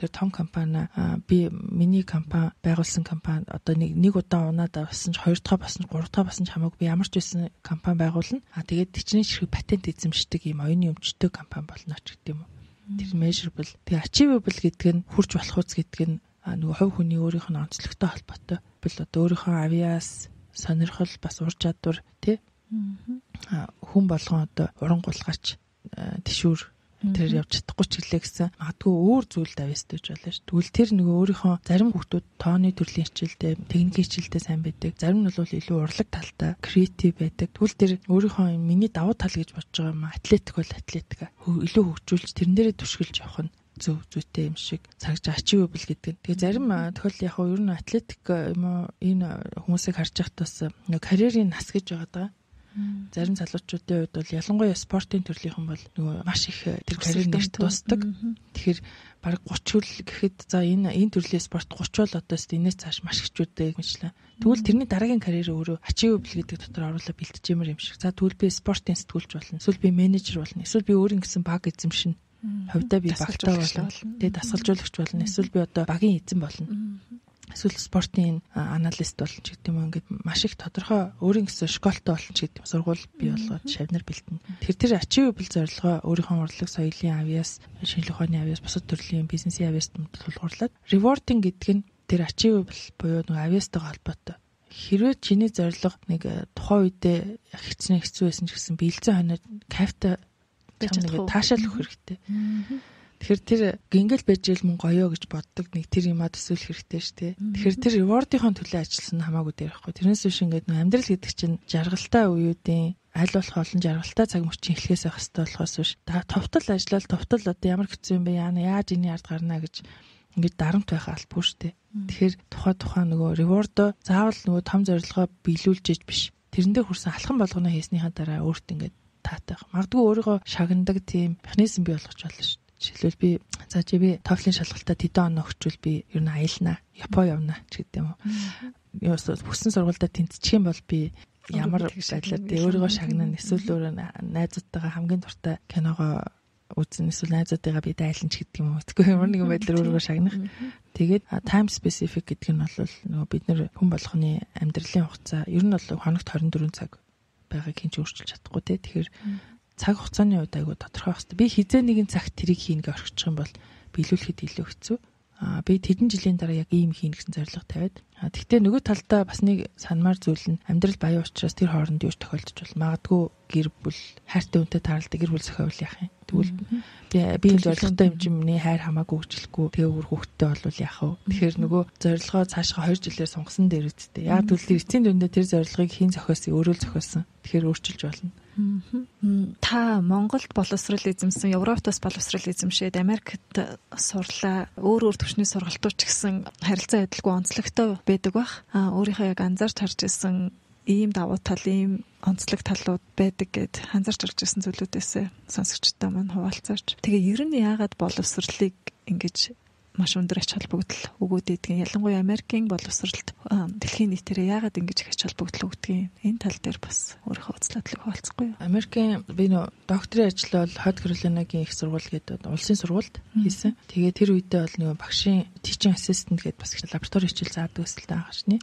B: Тэгэхээр том компани би миний компани байгуулсан компани одоо нэг удаа унаад басан ч 2 дахь басан ч 3 дахь басан ч хамаагүй би ямар ч байсан компани байгуулна. Тэгээд тэчнээ ширхэг патент эзэмшдэг ийм оюуны өмчтөй компани болно ч гэдэг юм уу. Тэр measurable. Тэгээ achievable гэдэг нь хүрч болох үз гэдэг нь нөгөө хувь хүний өөрийнх нь онцлогтой холбоотой. Бил одоо өөрийнхөө авиас сонирхол бас ур чадвар тий хүн болгон одоо урангуулгач тишүүр тэр явж чадахгүй ч гэлээ гэсэн магадгүй өөр зүйл давьяастай байж болно шүү. Тэгвэл тэр нөгөө өөрийнхөө зарим хүмүүс тооны төрлийн хичээлдээ техникийн хичээлдээ сайн байдаг. Зарим нь бол илүү урлаг талтай креатив байдаг. Тэгвэл тэр өөрийнхөө миний давуу тал гэж бодож байгаа юм атлетик бол атлетика илүү хөгжүүлж тэрэн дээрээ түшгэлж явах нь зүйтэй юм шиг цагж achievable гэдэг. Тэгээ зарим тохиол яг ер нь атлетик юм уу энэ хүмүүсийг харж байхад бас нөгөө карьерийн нас гэж байгаа даа. Зарим залуучуудын хувьд бол ялангуяа спортын төрлийнхэн бол нөгөө маш их тэр карьер нэрт дуусдаг. Тэгэхээр бараг 30 хүрэл гэхэд за энэ төрлийн спорт 30 бол одоос энэс цааш маш хичүүддэг мэтлээ. Тэгвэл тэрний дараагийн карьер өөрөө achievable гэдэг дотор оруулаад бэлтжимэр юм шиг. За тэгвэл би спортын сэтгүүлч болно. Эсвэл би менежер болно. Эсвэл би өөрийн гэсэн баг эзэмшинэ. Хувьдаа би багтаа болно. Тэгээ дасгалжуулагч болно. Эсвэл би одоо багийн эзэн болно. Эсвэл спортын аналист болно ч гэдэг юм ингээд маш их тодорхой өөрийн гэсэн школтой болно ч гэдэг юм. Сургууль бий болгоод шавнар бэлтэн. Тэр achievable зорилгоо өөрийнхөө урлаг соёлын авьяас, шинжлэх ухааны авьяас, бусад төрлийн бизнесийн авьяаст тулгуурлаад rewarding гэдэг нь тэр achievable буюу нэг авьяастайгаа холбоотой. Хэрвээ чиний зорилго нэг тухайн үедээ хэцүү байсан ч гэсэн биелзэн хоноод кайфтай таашаал өгөх хэрэгтэй. Тэгэхээр тэр гингэл байж ил мөн гоёо гэж боддог нэг тэр юмаа төсөөлөх хэрэгтэй шүү дээ. Тэгэхээр тэр reward-ийн төлөө ажилласан хамаагүй дээр ихгүй. Тэрнээс биш ингээд амьдрал гэдэг чинь жаргалтай үеүүдийн аль болох олон жаргалтай цаг мөчийн эхлэхээс байх хэрэгтэй болохоос биш. Товтол ажиллаад товтол одоо ямар хэцүү юм бэ? Яаж энэ ард гарна гэж ингээд дарамт байх албагүй шүү дээ. Тэгэхээр тухайн нөгөө reward заавал нөгөө том зорилгоо биелүүлж иж биш. Тэрэндээ хүрсэн алхам болгоно хийснийхаа дараа өөрт ингээд таатай. Магадгүй өөрийгөө шагнадаг тийм механизм бий болгож болно шүү. Жишээлбэл би TOEFL-ийн шалгалтад тэдэн оноо өгчвөл би ер нь аялнаа, Япон явна ч гэдэг юм уу. Хүссэн сургуультай тэнцчих юм бол би ямар байдлаар өөрийгөө шагнана, эсвэл өөрөө найзуудтайгаа хамгийн дуртай киногоо үзэн, эсвэл найзуудтайгаа би дайлан ч гэдэг юм уу. Тэгэхгүй ямар нэгэн байдлаар өөрийгөө шагнах. Тэгээд time specific гэдэг нь бол нөгөө бид нэр хүн болгоны амьдралын хугацаа ер нь бол хоногт 24 цаг байгааг хинч өөрчилж чадахгүй те. Тэгэхээр цаг хугацааны үед айгу тодорхой хэвчээ. Би хизээ нэгэн цагт тэрийг хийнэ гэж орхичих юм бол биелүүлэхэд илүү хэцүү. Би тэдэн жилийн дараа яг ийм хийнэ гэсэн зорилго тавиад. Тэгвэл нөгөө талдаа бас нэг санамар зүйл нь амьдрал баян учраас тэр хооронд юу ч тохиолдож бол магадгүй гэр бүл хайртай хүнтэй тааралдаг гэр бүл зохиол яах юм. Тэгвэл би энэ зорилготой хэмжээний хайр хамаагүй хөгжлөхгүй тэгээ өөр хүүхдтэй болвол яах вэ? Тэгэхээр нөгөө зорилгоо цаашгаа 2 жилээр сунгасан дээр үсттэй. Яг тэгвэл эцсийн дүндээ тэр зорилгыг хийн зохиосон, өөрөө л зохиосон. Тэгэхээр өөрчилж болно.
A: Та Монголд боловсрал эзэмсэн, Европт бас боловсрал эзэмшээд Америкт сурлаа. Өөр төвчний сургалтууд ч гэсэн харилцаа адилгүй онцлогтой байдаг бах. Өөрийнхөө яг анзаарч харж ирсэн ийм давуу тал, ийм онцлог талууд байдаг гэд анзаарч харж ирсэн зүйлүүдээс сонсогчтой маань хуваалцаач. Тэгээ ер нь яагаад боловсралыг ингэж маш өндөр ач холбогдол өгөөд идэгэн. Ялангуяа Америкийн боловсралд дэлхийн нийтээрээ яагаад ингэж их ач холбогдол өгдгийг энэ тал дээр бас өөрийнхөө үзлэдлийг хуваалцахгүй юу?
B: Америкийн би нөө докторийн ажил бол Хот Каролинагийн их сургууль гэдэг улсын сургуульд хийсэн. Тэгээ тэр үедээ бол нөгөө багшийн teaching assistant гэдэг бас лаборатори хичээл заадаг өсөлтөө агашны.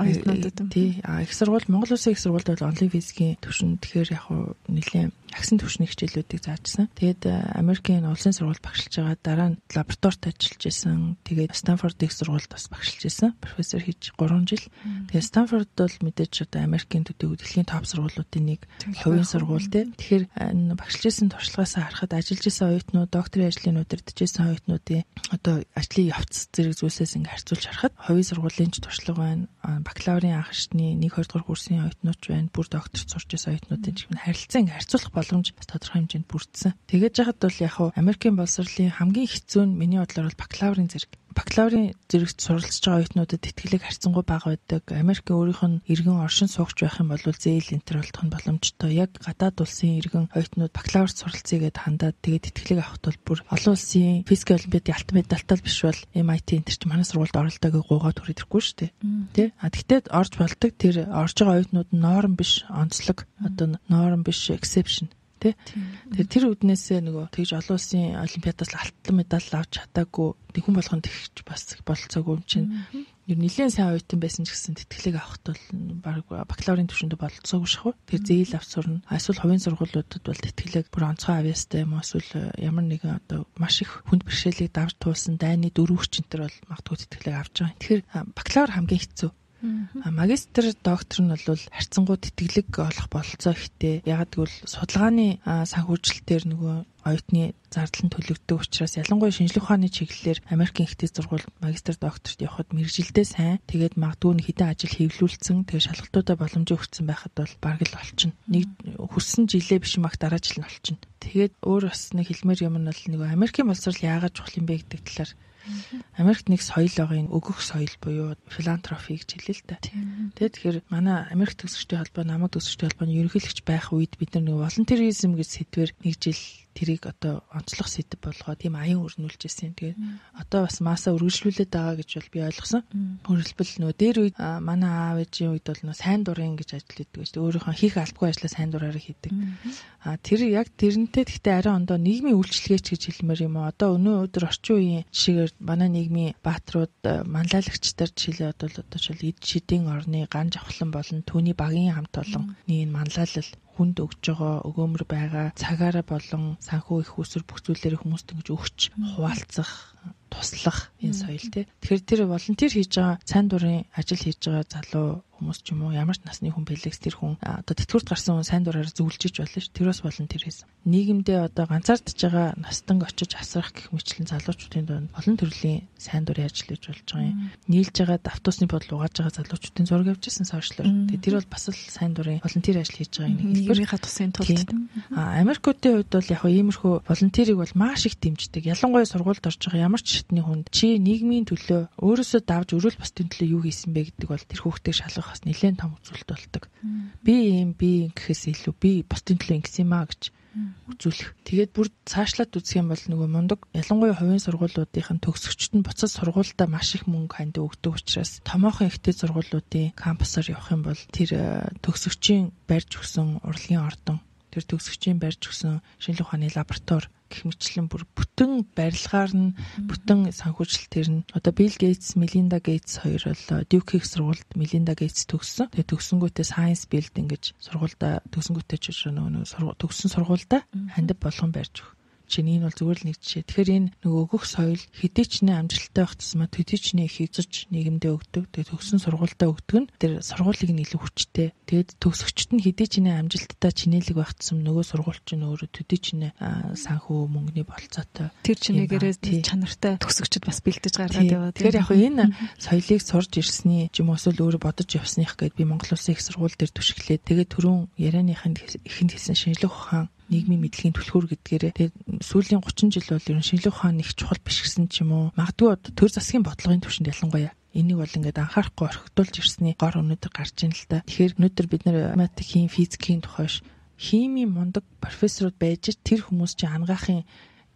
A: Оюутнуудад.
B: Тий. Их сургууль Монгол Улсын их сургуульд бол онлайн физикийн төвшин тэгэхээр яг хуу нэлээд агсан төвшний хичээлүүдийг заажсан. Тэгээд Америкийн улсын сургуульд багшилж байгаа дараа нь лабораторид ажиллаж исэн. Тэгээд Станфорд их сургуульд бас багшилж исэн. Профессор хийж 3 жил. Тэгээд Станфорд бол мэдээж одоо Америкийн төдий дэлхийн топ сургуулиудын нэг хувийн сургууль тий. Тэгэхээр энэ багшилж исэн туршлагаас харахад ажиллаж исэн оюутнууд, докторийн ажлын удирдах исэн оюутнуудын одоо ажлын явц зэрэг зүйлсээс ингээ харьцуулж харахад хувийн сургуулийн ч туршлага байна. Бакалаврын анх шатны 1-2 дугаар курсын оюутнууд байна. Бүр докторт сурч исэн оюутнуудын ч харилцаа ингээ харьцуулах боломж бас тодорхой хэмжээнд бүрдсэн. Тэгээд жахад бол яг хуу Америкийн боловсролын хамгийн хэцүү нь миний бодлоор бол бакалаврын зэрэг. Бакалаврын зэрэгт суралцж байгаа оюутнуудад тэтгэлэг харьцангуй бага байдаг. Америкийн өөрийнх нь иргэн оршин суугч байх юм бол зээл энтер болох нь боломжтой. Яг гадаад улсын иргэн оюутнууд бакалаврт суралцъя гэд хандаад тэгээд тэтгэлэг авахд бол бүр олон улсын физик олимпиадын алтан медальтай биш бол MIT энтер чи манай сургуульд оролдог гэж гуугаад хүрэдэхгүй шүү дээ. Тэ? Тэгтээ орж болдог тэр орж байгаа оюутнууд норм биш онцлог одоо норм биш exception. тий. Тэгэхээр тэр үднээсээ нөгөө тэгж олон улсын олимпиадаас алтан медаль авч чадаагүй хүн болгонд тэгж бас болцоогүй юм чинь. Ер нь нэлээд сайн оюутан байсан ч гэсэн тэтгэлэг авахт бол баг бакалаврын түвшиндээ болцоогүй шахав. Тэр зээл авч сурна. Эсвэл хувийн сургуулиудад бол тэтгэлэг бүр онцгой авьяастай юм эсвэл ямар нэгэн одоо маш их хүнд бэрхшээлийг давж туулсан дайны дөрвөгчнтер бол магадгүй тэтгэлэг авч байгаа. Тэгэхээр бакалавр хамгийн хэцүү. Магистр, доктор нь бол харьцангуй тэтгэлэг олох бололцоо ихтэй. Яг гэвэл судалгааны санхүүжилтээр нөгөө оюутны зардал нь төлөгддөг учраас ялангуяа шинжлэх ухааны чиглэлээр Америкийн ихтэй сургууль магистр, докторт явхад мэргэжилдээ сайн. Тэгээд магадгүй хэдэн ажил хэвлүүлсэн. Тэгээд шалгалтуудаа боломжийг өгсөн байхад бол бараг л олчихно. Нэг хүрсэн жилээ биш мах дараа жил нь олчихно. Тэгээд өөр бас нэг хэлмээр юм нь бол нөгөө Америкийн боловсрол яагаад чухал юм бэ гэдэг талаар Америкт нэг соёл байгаа, өгөх соёл буюу филантропи гэж хэлээ л да. Тэгэхээр манай Америк төгсөгчдийн холбоо, намайг төгсөгчдийн холбооны ерөнхийлөгч байх үед бид нар нэг волонтеризм гэж сэдвэр нэг жил тэрийг одоо онцлох сэдв болгоод тийм аян өрнүүлж ирсэн. Тэгээд одоо бас маасаа үргэлжлүүлээд байгаа гэж бол би ойлгосон. Өөрөлдвөл нөгөө дээр үед манай аав ээжийн үед бол нөгөө сайн дурын гэж ажил хийдэг гэж өөрийнхөө хийх албагүй ажлаа сайн дураараа хийдэг. Тэр яг тэрнтэй гэхдээ арай ондоо нийгмийн үйлчлэгээч гэж хэлмээр юм уу. Одоо өнөө өдөр орчин үеийн жишээгээр манай нийгмийн бааtruуд манлайлагчдаар жишээлээ одоо эд шидийн орны ган жавхлан болон түүний багийн хамт олонны манлайлал хүнд өгж байгаа өгөөмөр байгаа цагаараа болон санхүү их усүр бүх зүйлээр хүмүүст ингэж өгч хуваалцах туслах энэ соёл тий. Тэгэхээр тэр волонтер хийж байгаа сайн дурын ажил хийж байгаа залуу хүмүүс ч юм уу ямар ч насны хүн бэлэгс тэр хүн одоо тэтгэврт гарсан хүн сайн дураар зөвлөж болно ш. Тэр бас волонтеризм. Нийгэмдээ одоо ганцаардж байгаа настан очиж асрах гэх мэтлэн залуучуудын донд олон төрлийн сайн дурын ажил хийж болж байгаа юм. Нийлж байгаа давтуусны бодол угааж байгаа залуучуудын зураг авчихсан сошиалор. Тэгээ тэр бол бас л сайн дурын волонтер ажил хийж байгаа юм.
A: Нийгмийнхаа тусын тулд.
B: Америкуудын хувьд бол яг иймэрхүү волонтерийг бол маш их дэмждэг. Ялангуяа сургуульд орж байгаа ямар ч шатны хүнд чи нийгмийн төлөө өөрөөсөө давж өрөөл бусдын төлөө юу хийсэн бэ гэдэг бол тэр хүүхдийг шалгах бас нэлээд том үзүүлэлт болдог. Би гэхээс илүү би бусдын төлөө ингэсэн юм аа гэж үзүүлэх. Тэгээд бүр цаашлаад үзэх юм бол нөгөө мундаг ялангуяа хувийн сургуулиудын төгсөгчд нь буцаж сургуультай маш их мөнгө ханд өгдөг учраас томоохон ихтэй сургуулиудын кампусаар явах юм бол тэр төгсөгчийн барьж өгсөн урлагийн ордон, тэр төгсөгчийн барьж өгсөн шинжлэх ухааны лаборатори гэх мэтлэн бүр бүтэн барилгаар нь бүтэн санхүүжилтээр нь одоо Билл Гейтс, Мелинда Гейтс хоёр бол Duke их сургуульд Мелинда Гейтс төгссөн. Тэгээ төгсөнгүүтээ Science Building гэж сургуульда төгсөнгүүтээ ч нөгөө төгссөн сургуульда хандив болгон барьж өг. Чинь энэ бол зүгээр л нэг жишээ. Тэгэхээр энэ нөгөө өгөх соёл хэдий ч нэ амжилттай байх тусмаа төдий ч нэ их эзэж нийгэмдээ өгдөг. Тэгээд төгссөн сургуультай өгдөг нь тэр сургуулийг нь илүү хүчтэй. Тэгээд төгсөгчд нь хэдий ч нэ амжилттай чинэлэг байх тусам нөгөө сургууль чинь өөрөө төдий ч нэ санхүү мөнгөний болцоотой.
A: Тэр чинээгээрээ чанартай төгсөгчд бас бэлдэж гаргаад яваа.
B: Тэгэхээр яг энэ соёлыг сурж ирсний юм эсвэл өөрөө бодож явсных гэдээ би Монгол Улсын их сургууль дээр түшиглээд тэгээд түрүүн ярианыханд ихэнд хэлсэн шинжлэх ухаан нийгмийн мэдлэгийн түлхүүр гэдгээрээ тэгээд сүүлийн 30 жил бол ер нь шинжлэх ухааны их чухал биш гэсэн ч юм уу магадгүй төр засгийн бодлогын түвшинд ялангуяа энийг бол ингээд анхаарахгүй орхитуулж ирсний гор өнөдр гарч ийн л та. Тэгэхээр өнөдр бид нар математикийн, физикийн тухайш химийн мундаг профессорууд байж тэр хүмүүс чинь ангаахын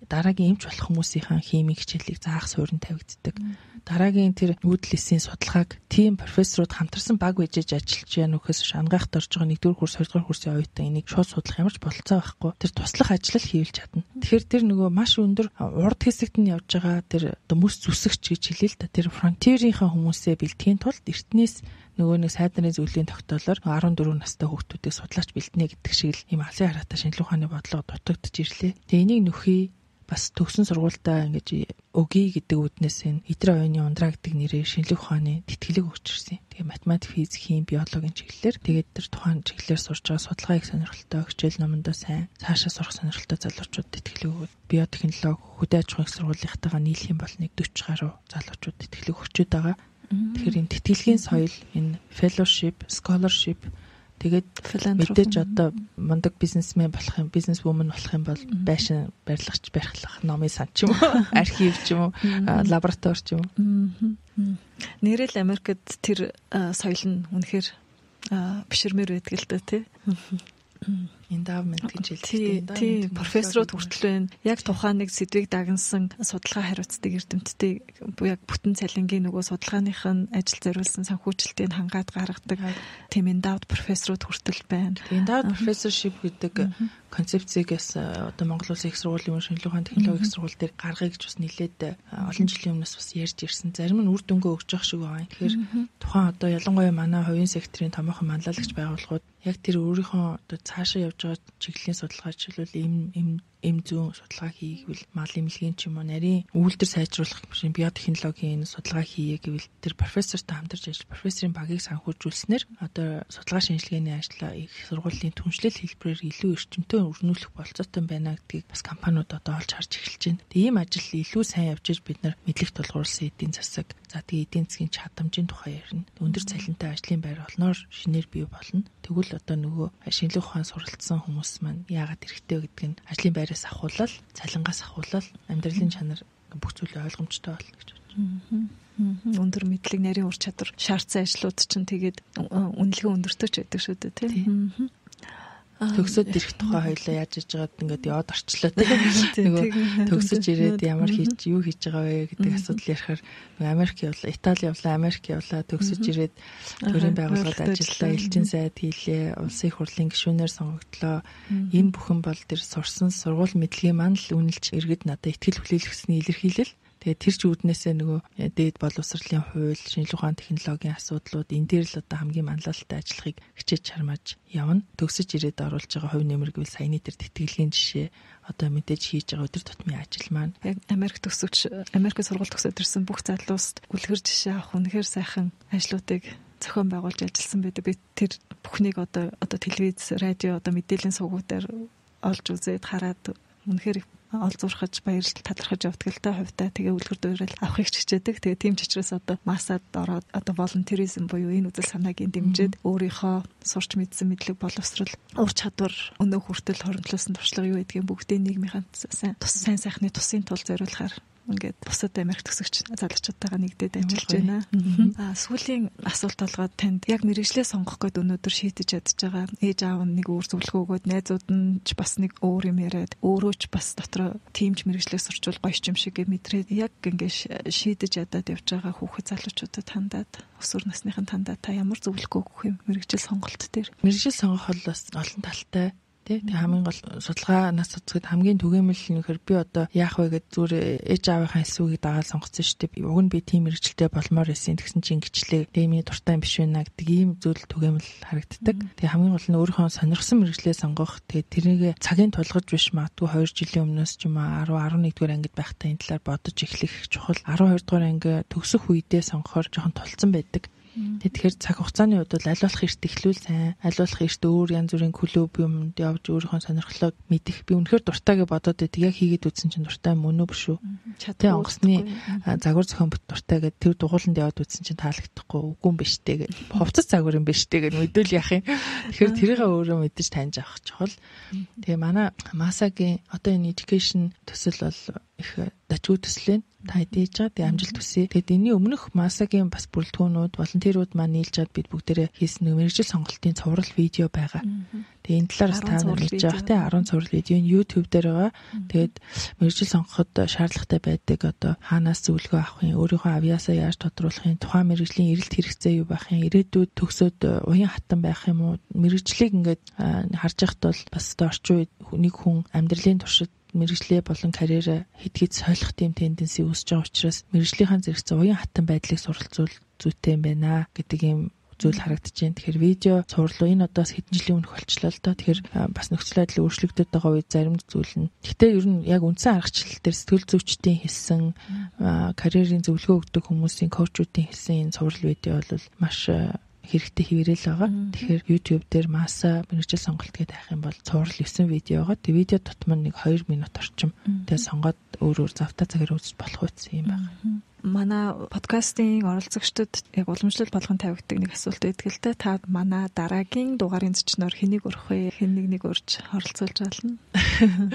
B: дараагийн эмч болох хүмүүсийн химийн хичээлийг заах суурин тавигддаг. Дараагийн тэр үүдлийн судалгааг тийм профессорууд хамтарсан баг bijж ажиллаж яа нөхөөс ангаахт орж байгаа 1-р курс 2-р курсын оюутан энийг шууд судлах ямар ч болцоо байхгүй. Тэр туслах ажил хийлж чадна. Тэгэхээр тэр нөгөө маш өндөр урд хэсэгт нь явж байгаа тэр мөс зүсэгч гэж хэлээ л да. Тэр фронтирийнхаа хүмүүсээ бэлтгэхийн тулд эртнээс нөгөө нэг сайд нарын зөвлөлийн тогтоолоор 14 настай хүүхдүүдийг судлаач бэлтнэ гэдэг шиг л ийм алсын хараатай шинжлэх ухааны бодлого дутагдж ирлээ. Тэгээ энийг нөхий бас төгсөн сургуультай ингэж өгье гэдэг үднээс энэ Идрээ оюуны ундраа гэдэг нэрээр шинжлэх ухааны тэтгэлэг өгч ирсэн. Тэгээ математик, физик, хими, биологийн чиглэлээр тэгээд тэр тухайн чиглэлээр сурж байгаа судалгааг сонирхолтой, хичээл номондоо сайн цаашаа сурах сонирхолтой залуучууд тэтгэлэг өгөөд биотехнологи, хөдөө аж ахуйн сургуулийнхтайгаа нийлэх юм бол нэг 40 гаруй залуучууд тэтгэлэг өгчөөд байгаа. Тэгэхээр энэ тэтгэлгийн соёл, энэ fellowship, scholarship тэгээд мэдээж одоо мундаг бизнесмен болох юм, бизнес вумен болох юм бол байшин барилгач барих номын сан ч юм уу, архив ч юм уу, лаборатори ч юм уу.
A: Нэрэл Америкт тэр соёл нь үнэхээр биширмээр байдаг л да тий.
B: Endowment гэж хэлдэг.
A: Тийм, профессорууд хүртэл байна. Яг тухайн нэг сэдвийг дагнасан судалгаа хариуцдаг эрдэмтдийг яг бүтэн цалингийн нөгөө судалгааных нь ажил зориулсан санхүүжилтийг хангаад гаргадаг тийм endowed профессорууд хүртэл байна.
B: Endowed professorship гэдэг концепцийг одоо Монгол Улсын их сургуулийн шинжилгээ ухааны технологийн их сургууль дээр гаргая гэж бас нэлээд олон жилийн өмнөөс бас ярьж ирсэн. Зарим нь үр дүнгээ өгч явах шиг байна. Тэгэхээр тухайн одоо ялангуяа манай хувийн секторын томоохон манлайлагч байгууллагууд яг тэр өөрийнхөө одоо цаашаа явж байгаа чиглэлийн судалгаачлал эм зүүн судалгаа хийгвэл мал эмнэлгийн ч юм уу нарийн үйлдвэр сайжруулах биотехнологийн судалгаа хийе гэвэл тэр профессортой хамтарч ажиллаж профессорын багийг санхүүжүүлснээр одоо судалгаа шинжилгээний ажлаа их сургуулийн түншлэл хэлбэрээр илүү эрчимтэй өрнүүлэх болцоотой байна гэдгийг бас компаниуд одоо олж харж эхэлж байна. Тэгээ ийм ажил илүү сайн явж иж бид нар мэдлэг тулгуурласан эдийн засаг за тэгээ эдийн засгийн чадамжийн тухай ярина. Өндөр цалинтай ажлын байр олноор шинээр бий болно. Тэгвэл одоо нөгөө шинжлэх ухаан суралцсан хүмүүс маань яагаад хэрэгтэй гэдэг нь ажлын байраас ахуулаад, цалингаас ахуулаад амьдралын чанар бүх зүйлээ ойлгомжтой болно гэж байна.
A: Өндөр мэдлэг, нарийн ур чадвар шаардсан ажлууд чинь тэгээд үнэлгээ өндөртэй ч байдаг шүү дээ, тийм.
B: Төгсөд ирэх тухай хоёлаа яаж хийж байгаад ингээд яваад орчлоо тийм. Төгсөж ирээд ямар хийж юу хийж байгаа вэ гэдэг асуудал ярихаар Америк явлаа, Итали явлаа, Америк явлаа, төгсөж ирээд төрийн байгууллагад ажиллаа, элчин сайд хийлээ, улсын их хурлын гишүүнээр сонгогдлоо. Энэ бүхэн бол тэр сурсан сургууль мэдлэгийн маань л үнэлж иргэд надад ихтгэл хүлээлгэсний илэрхийлэл. Тэгээ тэр ч үүднээсээ нөгөө дээд боловсролын хууль, шинжлэх ухааны технологийн асуудлууд энэ дээр л одоо хамгийн манлайлалтай ажиллахыг хичээж чармааж явна. Төгсөж ирээд оруулж байгаа хувь нэмэр гэвэл саяны тэр тэтгэлгийн жишээ одоо мэдээж хийж байгаа өдөр тутмын ажил маань.
A: Яг Америкт сургууль төгсөөд ирсэн бүх залууст үлгэр жишээ авах үнэхээр сайхан ажлуудыг зохион байгуулж ажилласан байдаг. Би тэр бүхнийг одоо телевиз, радио, одоо мэдээллийн сувгуудаар олж үзээд хараад үнэхээр олж зурхаж баярлал талархаж явдаг л та хувьдаа тэгээ үлгэр дуурайл авахыг хичээдэг. Тэгээ тийм ч учраас одоо масад ороод одоо волонтеризм буюу энэ үзэл санаагийн дэмжиж өөрийнхөө сурч мэдсэн мэдлэг боловсрал ур чадвар өнөө хүртэл хоригдлуулсан туршлага юу гэдгийг бүгдийг нийгмийн сайн сайхны тусын тул зориулахаар ингээд бусад Америк төгсөгч залуучуудтайгаа нэгдээд ажиллаж байна. Сүүлийн асуулт болгоод танд яг мэргэжлээ сонгох гээд өнөөдөр шийдэж ядж байгаа ээж аав нь нэг өөр зөвлөгөө өгөөд найзууд нь ч бас нэг өөр юм яриад өөрөө ч бас дотроо тиймч мэргэжлээ сурчвал гоё юм шиг мэдрээд яг ингээд шийдэж ядаад явж байгаа хүүхэд залуучуудад хандаад өсвөр насныхын тандаа та ямар зөвлөгөө өгөх юм мэргэжил сонголт дээр?
B: Мэргэжил сонгох бол бас олон талтай. Тэг хамгийн гол судалгаанаас үзэхэд хамгийн түгээмэл нөхөр би одоо яах вэ гэд зүгээр ээж аавынхаа эсвүүгийг дагаад сонгоцсон шүү дээ. Уг нь би тийм мэрэгчлээ болмоор байсан тэгсэн чинь ингэчлээ. Дэмий дуртай юм биш байна гэдэг ийм зүйл түгээмэл харагддаг. Тэг хамгийн гол нь өөрийнхөө сонирхсан мэрэгчлээ сонгох. Тэгээд тэрнийг цагийн тулгаж биш магадгүй 2 жилийн өмнөөс ч юм уу 10 11 дугаар ангид байхдаа энэ талаар бодож эхлэх чухал. 12 дугаар анги төгсөх үедээ сонгохоор жоохон тулцсан байдаг. Тэгэхээр цаг хугацааны хувьд бол аль болох эрт эхлүүл сайн, аль болох эрт өөр янз бүрийн клуб юмд явж өөрийнхөө сонирхлыг мэдэх. Би үнэхээр дуртай гэж бодоод байдаг. Яг хийгээд үзсэн чинь дуртай юм уу биш үү? Тэ онгоцны загвар зохион бүт дуртай гэдэг тэр дугууланд яваад үзсэн чинь таалагдахгүй үгүй юм биш дээ гэж. Хувцас загвар юм биш дээ гэж мэдвэл яах юм. Тэгэхээр тэрийг өөрөө мэдэж таньж авах чухал. Тэгээ манай Масагийн одоо энэ education төсөл бол их дажгүй төслөө та хэдийж байгаа тийм амжилт хүсье. Тэгэд энэний өмнөх Масагийн бас бүрэлдэхүүнүүд, волонтерууд маань нийлж чад бид бүгдээрээ хийсэн нэг мэргэжил сонголтын цуврал видео байгаа. Тэгээ энэ талаар та нар мэдж байгаа тийм 10 цуврал видео нь YouTube дээр байгаа. Тэгээд мэргэжил сонгоход шаардлагатай байдаг одоо хаанаас зөвлөгөө авах юм, өөрийнхөө авьяасаа яаж тодруулах юм, тухайн мэргэжлийн эрэлт хэрэгцээ юу байх юм, ирээдүйд төгсөөд уян хатан байх юм уу, мэргэжлийг ингээд харж байхад бол бас орчин үед нэг хүн амьдралын туршид мэргэжлээ болон карьераа хэд солих тийм тенденси үүсэж байгаа учраас мэргэжлийнхаа зэрэгцээ уян хатан байдлыг суралцуул зүйтэй юм байна гэдэг юм зүйл харагдаж байна. Тэгэхээр видео цуврал энэ одоос хэдэн жилийн өмнөх болчлоо л доо. Тэгэхээр бас нөхцөл байдал өөрчлөгдөж байгаа үед зарим зүйл нь. Гэхдээ ер нь яг үндсэн аргачлал дээр сэтгэл зүйчдийн хэлсэн карьерийн зөвлөгөө өгдөг хүмүүсийн коучуудын хэлсэн энэ цуврал видео бол маш хэрэгтэй хэвээрэл байгаа. Тэгэхээр YouTube дээр Masa мэргэжил сонголт гэдэг хайх юм бол цуврал 9 видеогоо тэг видео тутам нэг 2 минут орчим тэгээ сонгоод өөр завта цагаар үзэж болох үс юм байна.
A: Манай подкастын оролцогчдод яг уламжлал болгон тавигддаг нэг асуулт байдаг л да. Та манай дараагийн дугаарын зочноор хэнийг урах вэ? Хэн нэг урьж оролцуулж болно?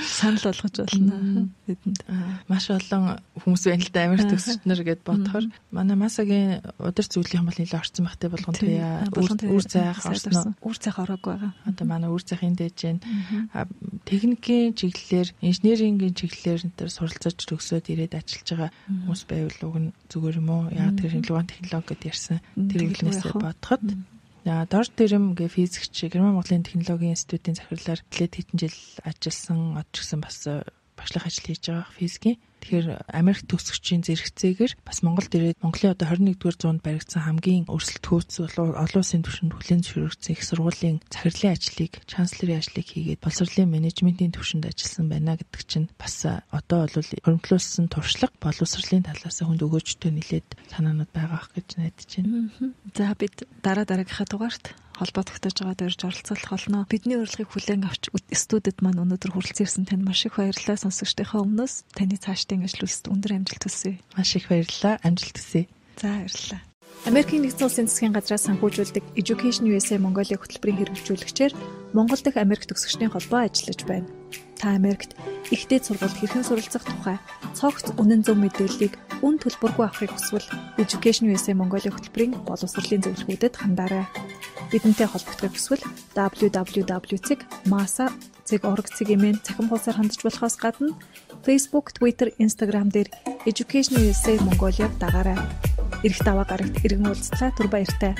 A: Санал болгож болно бидэнд.
B: Маш олон хүмүүс байна л да, Америк төгсчнөр гэд бодохоор манай Масагийн удир зүйлийн бол нэлээд орцсон багтай болгон туяа үр цайх орсон.
A: Үр цайх ороагүй байгаа.
B: Одоо манай үр цайхын дэж जैन техникийн чиглэлээр, инженерингийн чиглэлээр энэ суралцаж төгсөөд ирээд ажиллаж байгаа хүмүүс байвал уг нь зүгээр юм уу? Яг тэр шинжилгээ технологи гэдээ ярьсан. Тэр хэлнээсээ бодоход дор тэрэм гэ физикч Герман Монголын технологийн институтын захирлаар нэлээд хэдэн жил ажилласан, од ч гэсэн бас багшлах ажил хийж байгаа физикийн. Тэгэхээр Америк төгсөгчийн зэрэгцээгээр бас Монголд ирээд Монголын одоо 21-р зуунд баригдсан хамгийн өрсөлдөхөөц олон улсын түвшинд хүлээн зөвшөөрөгдсөн их сургуулийн захирлын ажлыг, чанслерийн ажлыг хийгээд боловсролын менежментийн түвшинд ажилласан байна гэдэг чинь бас одоо бол хөрөнгөлүүлсэн туршлага боловсролын талаас хүнд өгөөжтэй нэлээд санаанууд байгаа ах гэж найдаж байна.
A: За бид дараагийнхаа дугаарт холбоо тогтоож байгаа дөрж оролцуулах болно. Бидний урилгыг хүлээн авч студид маань өнөөдөр хүрэлцэн ирсэн танд маш их баярлалаа. Сонсогчдынхаа өмнөөс таны цаашдын ажил үйлсэд өндөр амжилт хүсье.
B: Маш их баярлалаа. Амжилт хүсье.
A: За баярлалаа. Америкийн нэгдсэн улсын засгийн газраас санхүүжүүлдэг Education USA Mongolia хөтөлбөрийн хэрэгжүүлэгчээр Монгол дахь Америк төгсөгчдийн холбоо ажиллаж байна. Та Америкт их дээд сургуульд хэрхэн суралцах тухай цогц үнэн зөв мэдээллийг үн төлбөргүй авахыг хүсвэл Education USA Mongolia хөтөлбөрийн боловсролын зөвлөгөөдөд хандаарай. Бидэнтэй холбогдохыг хүсвэл www.masa.org-ийн цахим хуудасаар хандж болохоос гадна Facebook, Twitter, Instagram дээр Education USA Mongolia-г дагаарай. Ирэх даваа гарагт иргэн уулзлаа. Түр баяртай.